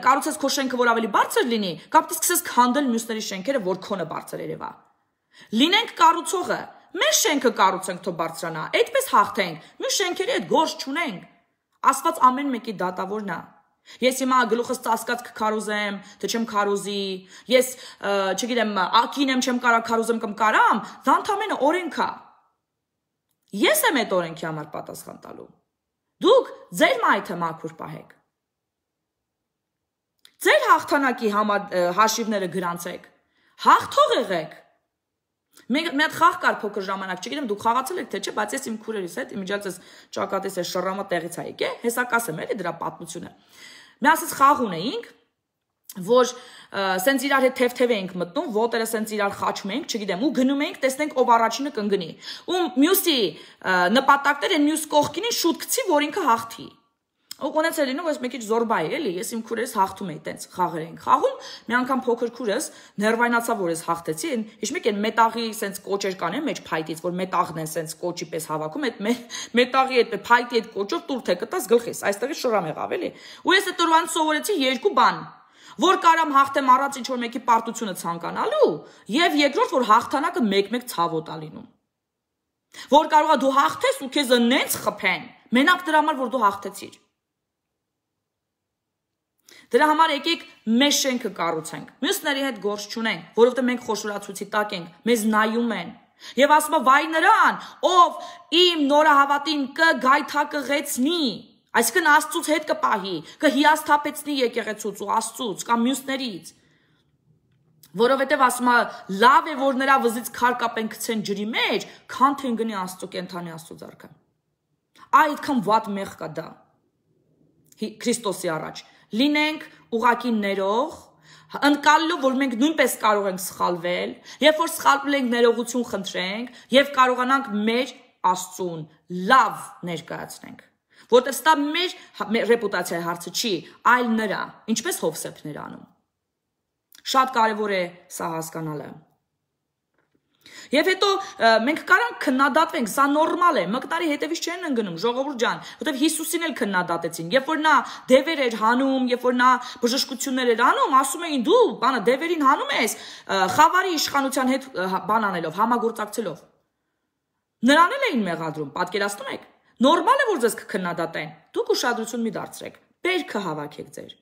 կառուցես քո շենքը, որ ավելի բարձր լինի, կամ պիտի սկսես քանդել մյուսների շենքերը, որ քոնը բարձր երևա։ Լինենք կառուցողը, մեր շենքը կառուցենք, թող բարձրանա, այդպես հաղթենք, մյուս շենքերի հետ գործ չունենք։ Աստված ամեն մեկի դատավորն է։ Ես հիմա գլուխս ծածկած կքարոզեմ, թե չեմ քարոզի, ես, չգիտեմ, ակին եմ չեմ կարա քարոզեմ կամ կարամ, դա ընդամենը օրենք է։ Ես եմ այդ օրենքի համար պատասխան տալու։ Դուք ձեր մայթը մաքուր պահեք։ Ձեր հաղթանակի հաշիվները գրանցեք։ Հաղթող եղեք։ Մի հատ խաղ կար փոքր ժամանակ, չգիտեմ դուք խաղացել եք թե չէ, բայց ես իմ քուրերիս հետ իմիջիայլս ճակատիս է շռամը տեղից է եկե, հեսա կասեմ էլի դրա պատմությունը։ Մի ասես խաղ ունեինք, որ սենց իրար հետ թեթև էինք մտնում, ոտերը սենց իրար խաչում էինք, չգիտեմ, ու գնում էինք, տեսնենք ով առաջինը կընկնի։ Ու մյուսի նպատակները մյուս կողքինին շուտ գցի, որ ինքը հաղթի։ Ու ոնց է լինում, ես մի քիչ զորբա էի, էլի, ես իմ քուրերս հաղթում էի, տենց խաղեր էինք խաղում, մի անգամ փոքր քուրս ներվայնացավ, որ ես հաղթեցի, իշմիկ են մետաղի սենց կոճեր կան է մեջ փայտից, որ մետաղն են սենց կոճի պես հավաքում, այդ մետաղի այդ փայտի այդ կոճով տուր թե կտաս գլխիս, այստեղից շռամ եղավ, էլի։ Ու ես այդ օրվանից սովորեցի երկու բան, որ կարամ հաղթեմ առանց ինչ որ մեկի պարտությունը ցանկանալու, եւ երկրորդ, որ հաղթանակը մեկ-մեկ ցավոտ է լինում։ Որ կարողա դու հաղթես ու քեզ նենց խփեն, մենակ դրա համար, որ դու հաղթեցիր։ Դրա համար եկեք մեր շենքը կառուցենք, մյուսների հետ գործ չունենք, որովհետև մենք խոշորացուցի տակ ենք, մեզ նայում են։ Եվ ասում է վայ նրան, ով իմ նորահավատին կգայթակղեցնի, այսինքն Աստծուց հետ կպահի, կհիասթափեցնի եկեղեցուց ու Աստծուց կամ մյուսներից։ Որովհետև ասում է լավ է, որ նրա վզից քար կապեն գցեն ջրի մեջ, քան թե ընկնի Աստծո կենթանի Աստծո ձեռքը։ Այդքան վատ մեղ կա դա։ Քրիստոսի առաջ լինենք ուղակի ներող, ընկալելով, որ մենք նույնպես կարող ենք սխալվել, երբ որ սխալվել ենք ներողություն խնդրենք եւ կարողանանք մեր Աստծուն լավ ներկայացնենք, որտեղ ստա մեր ռեպուտացիայի հարցը չի, այլ նրա, ինչպես Հովսեփն էր անում։ Շատ կարևոր է սա հասկանալը։ Եվ հետո մենք կարանք քննադատվենք, սա նորմալ է, մկնարի հետևից չեն ընկնում, ժողովուրդ ջան, որտեղ Հիսուսին էլ քննադատեցին, երբ որ նա դևեր էր հանում, երբ որ նա բժշկություններ էր անում, ասում էին դու բանը դևերին հանում ես, խավարի իշխանության հետ բան անելով, համագործակցելով։ Նրան էլ էին մեղադրում, պատկերացնում եք։ Նորմալ է, որ ձեզ կքննադատեն, դուք ուշադրություն մի դարձրեք, բերքը հավաքեք ձեր։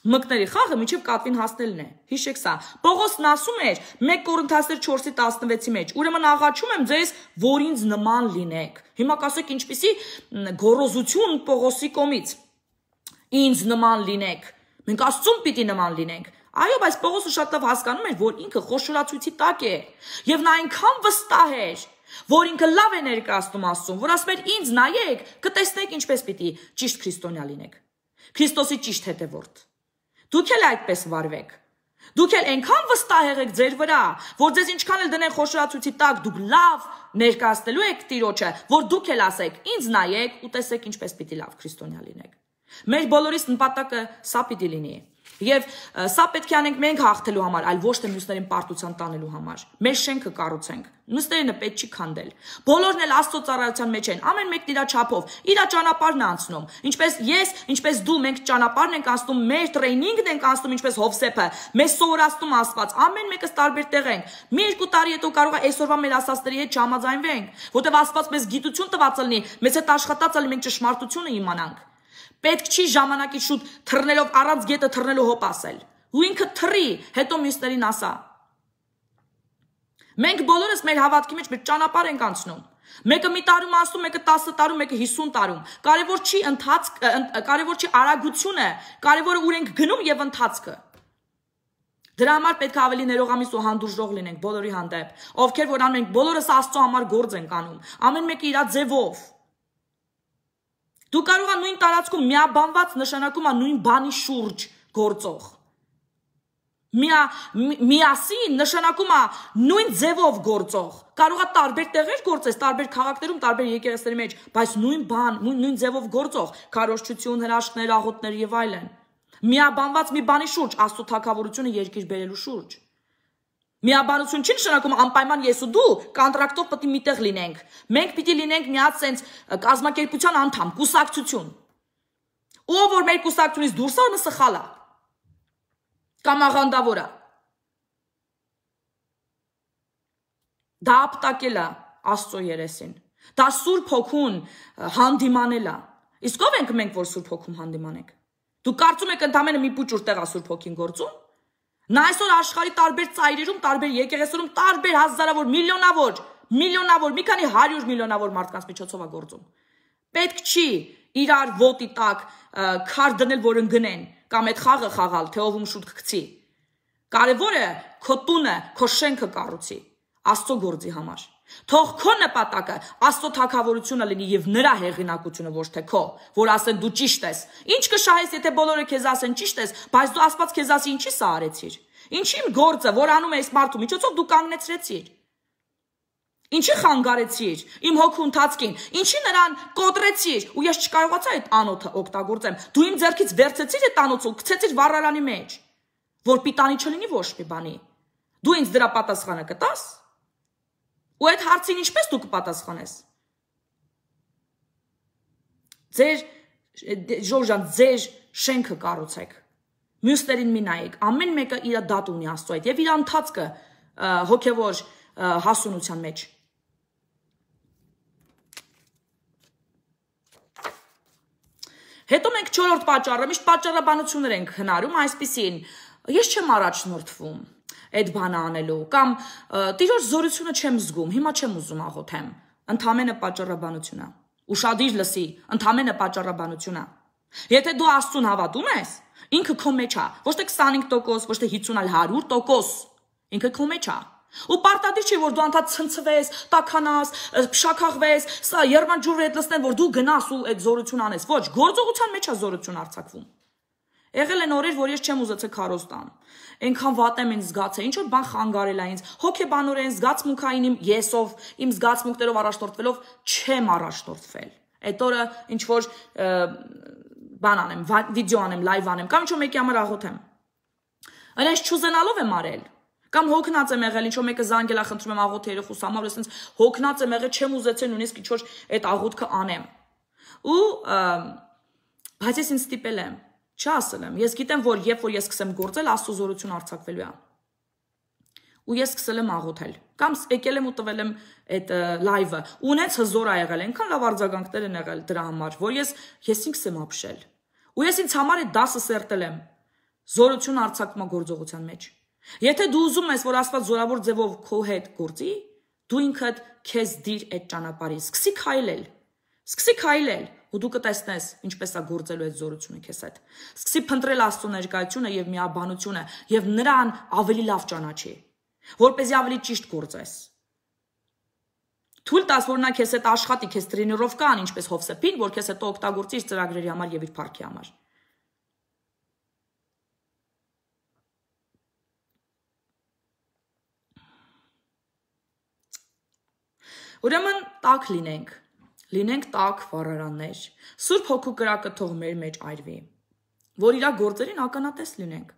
Մկների խաղը միջև կատվին հասնելն է, հիշեք սա, Պողոսն ասում էր 1 Կորինթացիներ 4:16-ի մեջ, ուրեմն աղաչում եմ ձեզ, որ ինձ նման լինեք, հիմա կասեք ինչպիսի գոռոզություն Պողոսի կողմից, ինձ նման լինեք, մենք Աստծուն պիտի նման լինենք, այո, բայց Պողոսը շատ լավ հասկանում էր, որ ինքը խոշորացույցի տակ է, եւ նա այնքան վստահ էր, որ ինքը լավ է ներկայացնում Աստծուն, որ ասում էր ինձ նայեք, կտեսնեք ինչպես պիտի ճիշտ քրիստոնյա լինեք, Քրիստոսի ճիշտ հետևորդ։ Դուք էլ այդպես վարվեք։ Դուք էլ այնքան վստահ եղեք ձեր վրա, որ ձեզ ինչքան էլ դնեն խոշորացույցի տակ, դուք լավ ներկայացնելու եք Տիրոջը, որ դուք էլ ասեք, ինձ նայեք ու տեսեք ինչպես պիտի լավ քրիստոնյա լինեք։ Մեր բոլորիս նպատակը սա պիտի լինի։ Եվ սա պետք է անենք մենք հաղթելու համար, այլ ոչ թե մյուսներին պարտության տանելու համար։ Մեր շենքը կառուցենք, մյուսներին պետք չի քանդել։ Բոլորն էլ Աստծո ծառայության մեջ են, ամեն մեկն իր չափով, իր ճանապարհն է անցնում։ Ինչպես ես, ինչպես դու, մենք ճանապարհն ենք անցնում, մեր տրեյնինգն ենք անցնում, ինչպես Հովսեփը, մեզ սովորացնում Աստված, ամեն մեկս տարբեր տեղ ենք։ Մի երկու տարի հետո կարող է այսօրվա մեր ասածների հետ չհամաձայնվենք, որտեղ Աստված մեզ գիտություն տված լինի, մեզ հետ աշխատած լինի, մենք ճշմարտությունը իմանանք։ Պետք չի ժամանակի շուտ թռնելով առանց գետը թռնելու հոպ ասել։ Ու ինքը թռի, հետո մյուսներին ասա։ Մենք բոլորս մեր հավատքի մեջ մեր ճանապարհ ենք անցնում։ Մեկը մի տարում անցնում, մեկը 10 տարում, մեկը 50 տարում։ Կարևոր չի արագությունը, կարևորը ուր ենք գնում եւ ընթացքը։ Դրա համար պետք է ավելի ներողամիտ ու հանդուրժող լինենք բոլորի հանդեպ, ովքեր որ անում ենք, բոլորս Աստծո համար գործ ենք անում, ամեն մեկը իր ձևով։ Դու կարող ես նույն տարածքում միաբանված նշանակում է նույն բանի շուրջ գործող։ Միասին նշանակում է նույն ձևով գործող։ Կարող է տարբեր տեղեր գործես, տարբեր քաղաքներում, տարբեր եկեղեցիների մեջ, բայց նույն բան, նույն ձևով գործող, քարոզչություն, հրաշքներ, աղոթներ եւ այլն։ Միաբանված մի բանի շուրջ, Աստծո թագավորությունը երկիր բերելու շուրջ։ Միաբանություն չի նշանակում անպայման ես ու դու կոնտրակտով պետք է միտեղ լինենք։ Մենք պիտի լինենք միած sense կազմակերպության անդամ, կուսակցություն։ Ով որ մեր կուսակցությունից դուրս է, սխալ է։ Կամ աղանդավոր է։ Դա ապտակել է Աստծո երեսին։ Դա Սուրբ Հոգուն հանդիմանել է։ Իսկ ով ենք մենք, որ Սուրբ Հոգում հանդիմանենք։ Դու կարծում եք ընդամենը մի փուճուր տեղ է Սուրբ Հոգին գործում։ Նա այսօր աշխարհի տարբեր ծայրերում, տարբեր եկեղեցիներում, տարբեր հազարավոր, միլիոնավոր, մի քանի 100 միլիոնավոր մարդկանց միջոցով է գործում։ Պետք չի իրար ոտի տակ քար դնել, որ ընկնեն, կամ այդ խաղը խաղալ, թե ով ում շուտ կգցի։ Կարևորը քո տունը, քո շենքը կառուցի, Աստծո գործի համար։ Թող քո նպատակը Աստծո թագավորությունը լինի եւ նրա հեղինակությունը, ոչ թե քո, որ ասեն դու ճիշտ ես։ Ինչ կշահես, եթե բոլորը քեզ ասեն ճիշտ ես, բայց դու Աստված քեզ ասի ինչի սա արեցիր։ Ինչի իմ գործը, որ անում ես մարդու միջոցով դու կանգնեցրեցիր։ Ինչի խանգարեցիր իմ հոգու ընթացքին, ինչի նրան կոտրեցիր, ու ես չկարողացա այդ անոթը օգտագործեմ։ Դու իմ ձեռքից վերցեցիր այդ անոթը ու գցեցիր վառարանի մեջ, որ պիտանի չլինի ոչ մի բանի։ Դու ինձ դրա պատասխանը կտաս։ Ու այդ հարցին ինչպես դու կպատասխանես։ Ժորժան, ձեր շենքը կառուցեք։ Մյուսներին մի նայեք, ամեն մեկը իր դատ ունի Աստծո հետ եւ իր ընթացքը հոգեվոր հասունության մեջ։ Հետո մենք 4-րդ պատճառը, միշտ պատճառաբանություններ ենք հնարում, այսպիսին, ես չեմ առաջնորդվում այդ բանը անելու, կամ Տիրոջ զորությունը չեմ զգում, հիմա չեմ ուզում աղոթեմ, ընդամենը պատճառաբանություն է, ուշադիր լսի, ընդամենը պատճառաբանություն է։ Եթե դու Աստծուն հավատում ես, ինքը քո մեջ է, ոչ թե 25%, ոչ թե 50, 100%, ինքը քո մեջ է։ Ու պարտադիր չի, որ դու անդադ ցնցվես, տաքանաս, փշաքաղվես, սա երմանջուրը հետ լսնեն, որ դու գնաս ու այդ զորություն անես։ Ոչ, գործողության մեջ է զորություն արձակվում։ Եղել են օրեր, որ ես չեմ ուզեցել քարոզ տամ։ Այնքան վատ եմ ինձ զգացել, ինչ որ բան խանգարել է ինձ, հոգեբանորեն զգացմունքային իմ եսով, իմ զգացմունքներով առաջնորդվելով չեմ առաջնորդվել։ Այդ օրը ինչ որ բան անեմ, վիդեո անեմ, լայվ անեմ, կամ ինչ որ մեկի համար աղոթեմ։ Այնպես չուզենալով եմ արել։ Կամ հոգնած եմ եղել, ինչ որ մեկը զանգել է, խնդրում եմ աղոթ երեխուս համար, ասենց հոգնած եմ եղել, չեմ ուզեցել նույնիսկ ինչ որ այդ աղոթքը անեմ։ Ու բայց ես ինձ ստիպել եմ, չասել եմ, ես գիտեմ, որ երբ որ ես սկսեմ գործել, Աստծո զորություն արձակվելու է։ Ու ես սկսել եմ աղոթել, կամ եկել եմ ու տվել եմ այդ լայվը, ունեց հզոր ա եղել, այնքան լավ արձագանքներ են եղել դրա համար, որ ես ինքս եմ ապշել։ Ու ես ինձ համար այդ դասը սերտել եմ, զորություն արձակման գործողության մեջ։ Եթե դու ուզում ես, որ Աստված զորավոր ձևով քո հետ գործի, դու ինքդ քեզ դիր այդ ճանապարհին, սկսի քայլել, ու դու կտեսնես ինչպես է գործելու այդ զորությունը քեզ հետ։ Սկսի փնտրել Աստծո ներկայությունը եւ միաբանությունը եւ նրան ավելի լավ ճանաչի, որպեսզի ավելի ճիշտ գործես։ Թույլ տաս, որ նա քեզ հետ աշխատի, քեզ տրենիրովկա անի, ինչպես Հովսեփին, որ քեզ հետո օգտագործի իր ծրագրերի համար եւ իր փառքի համար։ Ուրեմն տաք լինենք տաք վառարաններ, Սուրբ Հոգու կրակը թող մեր մեջ այրվի, որ իր գործերին ականատես լինենք։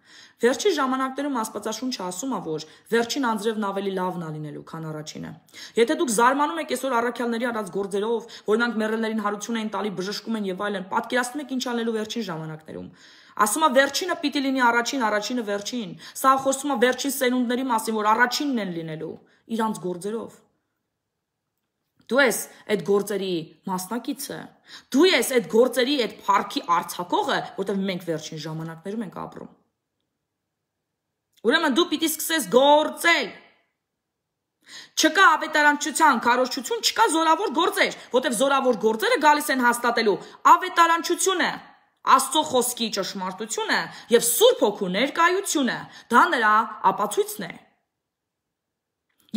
Վերջին ժամանակներում Աստվածաշունչը ասում է, որ վերջին անձրևն ավելի լավն է լինելու, քան առաջինը։ Եթե դուք զարմանում եք այսօր առաքյալների արած գործերով, որ նրանք մեռելներին հարություն են տալի, բժշկում են եւ այլն, պատկերացնում եք ինչ անելու վերջին ժամանակներում։ Ասում է վերջինը պիտի լինի առաջին, առաջինը վերջին։ Սա խոսում է վերջին սերունդների մասին, որ առաջինն են լինելու իրանց գործերով։ Դու ես այդ գործերի մասնակիցը, դու ես այդ գործերի այդ փառքի արձակողը, որտեղ մենք վերջին ժամանակներում ենք ապրում։ Ուրեմն դու պիտի սկսես գործել։ Չկա ավետարանչության քարոզչություն, չկա զորավոր գործեր, որտեղ զորավոր գործերը գալիս են հաստատելու ավետարանչությունը, Աստծո խոսքի ճշմարտությունը եւ Սուրբ Հոգու ներկայությունը, դա նրա ապացույցն է։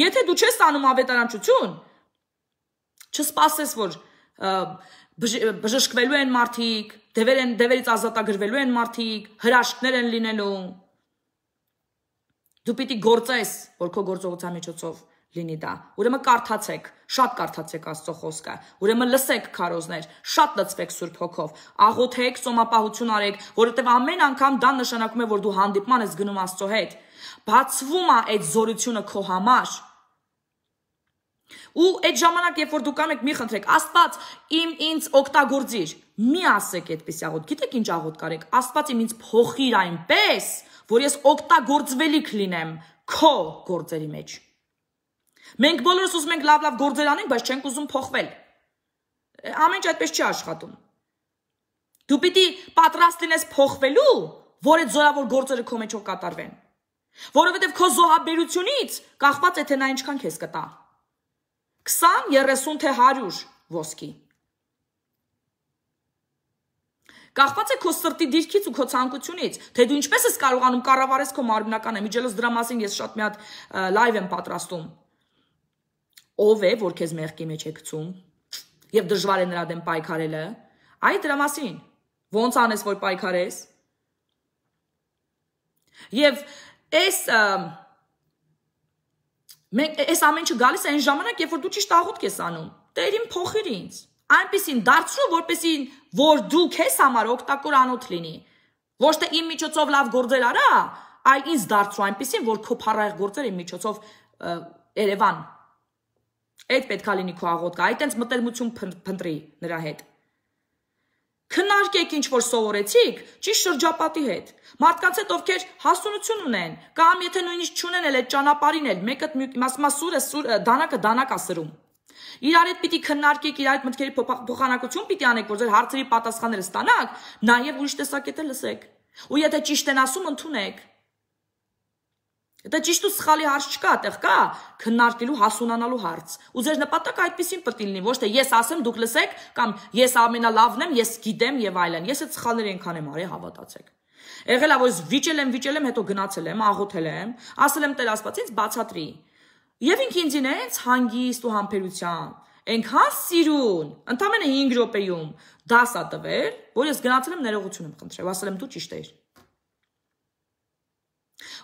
Եթե դու չես անում ավետարանչություն, չսպասես, որ բժշկվելու են մարդիկ, դևերից ազատագրվելու են մարդիկ, հրաշքներ են լինելու։ Դու պիտի գործես, որ քո գործողության միջոցով լինի դա։ Ուրեմն կարդացեք, շատ կարդացեք Աստծո խոսքը։ Ուրեմն լսեք քարոզներ, շատ լցվեք Սուրբ Հոգով, աղոթեք, ծոմապահություն արեք, որովհետև ամեն անգամ դա նշանակում է, որ դու հանդիպման ես գնում Աստծո հետ։ Բացվում է այդ զորությունը քո համար։ Ու այդ ժամանակ, երբ որ դուք կան եք, մի խնդրեք, Աստված ինձ օգտագործիր։ Մի ասեք այդպես աղոթ։ Գիտեք ինչ աղոթ կարեք։ Աստված ինձ փոխիր այնպես, որ ես օգտագործվելիք լինեմ քո գործերի մեջ։ Մենք բոլորս ուզում ենք լավ գործեր անենք, բայց չենք ուզում փոխվել։ Ամեն ինչ այդպես չի աշխատում։ Դու պիտի պատրաստ լինես փոխվելու, որ այդ զորավոր գործերը քո մեջով կատարվեն։ Որովհետև քո զոհաբերությունից կախված է, թե նա ինչքան քեզ կտա։ 20, 30 թե 100 ոսկի։ Կախված է քո սրտի դիրքից ու քո ցանկությունից, թե դու ինչպես ես կարողանում կառավարես քո մարմնական միջելոց դրա մասին ես շատ մի հատ լայվ եմ պատրաստում։ Ով է, որ քեզ մեղքի մեջ է գցում եւ դժվար է նրա դեմ պայքարելը։ Այ դրա մասին։ Ոնց անես, որ պայքարես։ Եվ այս ամեն ինչը գալիս է այն ժամանակ, երբ որ դու ճիշտ աղոթք ես անում։ Տերին փոխիր ինձ։ Այնպեսին դարձրու, որպեսի որ դու քեզ համար օգտակար անոթ լինի։ Ոչ թե իմ միջոցով լավ գործեր արա, այլ ինձ դարձրու այնպեսին, որ քո փառահեղ գործերը իմ միջոցով Երևան։ Այդ պետք է լինի քո աղոթքը, այդ տենց մտերմություն փնտրի նրա հետ։ Քննարկեք ինչ որ սովորեցիք, ճիշտ շրջապատի հետ։ Մարդկանց հետ ովքեր հասունություն ունեն, կամ եթե նույնիսկ չունեն էլ այդ ճանապարհին էլ, մեկը ասում է սուրը դանակը դանակ է սրում։ Իրար հետ պիտի քննարկեք, իրար հետ մտքերի փոխանակություն պիտի անեք, որ ձեր հարցերի պատասխանները ստանաք, նաև ուրիշ տեսակետ լսեք։ Ու եթե ճիշտ են ասում, ընդունեք։ Դա ճիշտ ու սխալի հարց չկա, այդտեղ կա քննարկելու, հասունանալու հարց։ Ու ձեր նպատակը այդպեսին պետք է լինի, ոչ թե ես ասեմ, դուք լսեք, կամ ես ամենալավն եմ, ես գիտեմ եւ այլն։ Ես այդ սխալները այնքան եմ արել, հավատացեք։ Եղել է, որ վիճել եմ, հետո գնացել եմ, աղոթել եմ, ասել եմ Տեր Աստված ինձ բացատրի։ Եվ ինքն ինձ ինձ հանգիստ ու համբերությամբ, այնքան սիրուն, ընդամենը 5 րոպեում դաս ա տվել, որ ես գնացել եմ ներողություն եմ խնդրել, ասել եմ դու ճիշտ ես։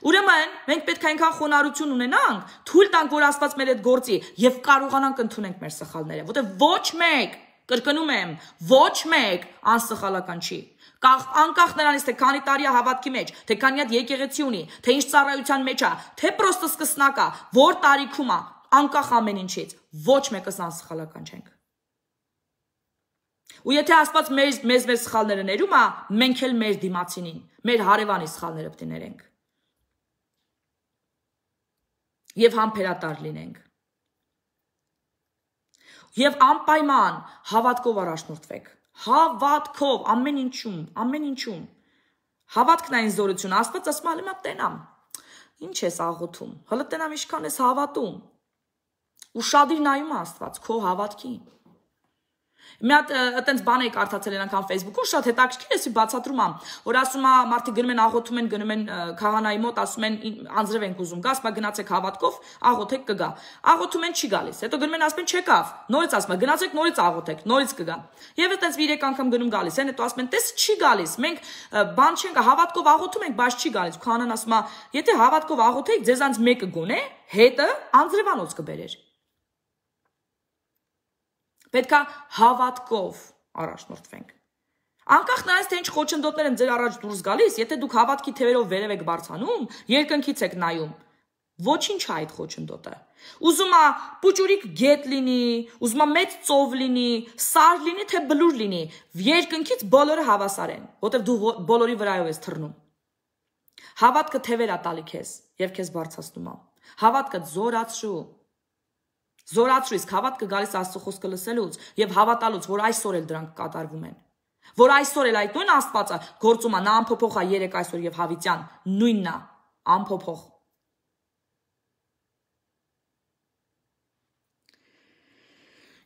Ուրեմն մենք պետք է այնքան խոնարհություն ունենանք, թույլ տանք, որ Աստված մեր հետ գործի եւ կարողանանք ընդունենք մեր սխալները, որտեղ ոչ մեկ, կրկնում եմ, ոչ մեկ անսխալական չի։ Անկախ նրանից, թե քանի տարի է հավատքի մեջ, թե քանի հատ եկեղեցի ունի, թե ինչ ծառայության մեջ է, թե պրոստը սկսնակ է, որ տարիքում է, անկախ ամեն ինչից, ոչ մեկս անսխալական չենք։ Ու եթե Աստված մեզ սխալները ներում է, մենք էլ մեր դիմացինին, մեր հարևանի սխալները պետք է ներենք։ Եվ համբերատար լինենք։ Եվ անպայման հավատքով առաջնորդվեք։ Հավատքով, ամեն ինչում։ Հավատքն այն զորություն, Աստված ասում է, «Ալիմա տենամ, ինչ ես աղոթում, հələ տենամ ինչքան ես հավատում»։ Ուշադիր նայում է Աստված քո հավատքին։ Մի հատ այտենց բան էի կարդացել են անգամ Facebook-ում, շատ հետաքրքիր է, բացատրում եմ, որ ասում է մարդիկ գնում են աղոթում են, գնում են քահանայի մոտ, ասում են անձրև ենք ուզում գա, ասում է գնացեք հավատքով, աղոթեք կգա։ Աղոթում են չի գալիս, հետո գնում են ասում են չեկավ, նորից ասում է գնացեք նորից աղոթեք, նորից կգա։ Եվ այտենց 3 անգամ գնում գալիս են, հետո ասում են տես չի գալիս, մենք բան չենք, հավատքով աղոթում ենք, բայց չի գալիս։ Քահանան ասում է, եթե հավատքով աղոթեիք, ձեզանց մեկը գոնե հետը անձրևանոց կբերեր։ Պետք է հավատքով առաջնորդվենք։ Անկախ նրանից թե ինչ խոչընդոտներ են ձեր առաջ դուրս գալիս, եթե դուք հավատքի թևերով վերև եք բարձանում, երկնքից եք նայում, ոչինչ է այդ խոչընդոտը։ Ուզում է պուճուրիկ գետ լինի, ուզում է մեծ ծով լինի, սար լինի, թե բլուր լինի, երկնքից բոլորը հավասար են, որտեղ դու բոլորի վրայով ես թռնում։ Հավատքը թևեր է տալի քեզ եւ քեզ բարձրացնում է։ Հավատքը զորացրու։ Զորացրու, իսկ հավատքը գալիս Աստծո խոսքը լսելուց եւ հավատալուց, որ այսօր էլ դրանք կատարվում են։ Որ այսօր էլ այդ նույն Աստվածը գործում է, նա անփոփոխ է երեք այսօր եւ հավիտյան, նույնն է, անփոփոխ։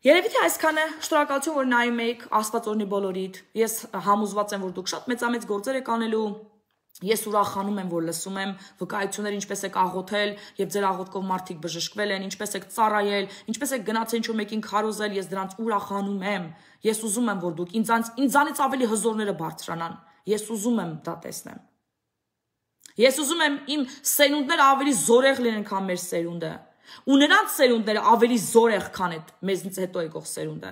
Երևի թե այսքանը, շնորհակալություն, որ նայում եք, Աստված օրհնի բոլորիդ։ Ես համոզված եմ, որ դուք շատ մեծամեծ գործեր եք անելու։ Ես ուրախանում եմ, որ լսում եմ վկայություններ, ինչպես եք աղոթել եւ ձեր աղոթքով մարդիկ բժշկվել են, ինչպես եք ծառայել, ինչպես եք գնացել ինչ-որ մեկին քարոզել, ես դրանց ուրախանում եմ։ Ես ուզում եմ, որ դուք ինձանից ավելի հզորները բարձրանան։ Ես ուզում եմ դա տեսնեմ։ Ես ուզում եմ իմ սերունդները ավելի զորեղ լինեն, քան մեր սերունդը, ու նրանց սերունդները ավելի զորեղ, քան այդ մեզնից հետո եկող սերունդը։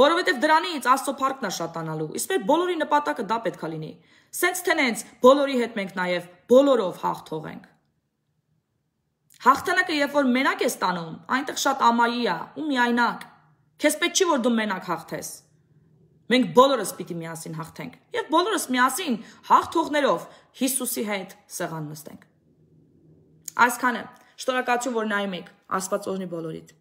Որովհետև դրանից Աստծո փառքն է շատանալու, իսկ մեր բոլորի նպատակը դա պետք է լինի։ Սենց թե նենց բոլորի հետ մենք նաև բոլորով հաղթող ենք։ Հաղթանակը երբ որ մենակ ես տանում, այնտեղ շատ ամայի է ու միայնակ։ Քեզ պետք չի որ դու մենակ հաղթես։ Մենք բոլորս պիտի միասին հաղթենք եւ բոլորս միասին հաղթողներով Հիսուսի հետ սեղան նստենք։ Այսքանը, շնորհակալություն որ նայում եք, Աստված օրհնի բոլորիդ։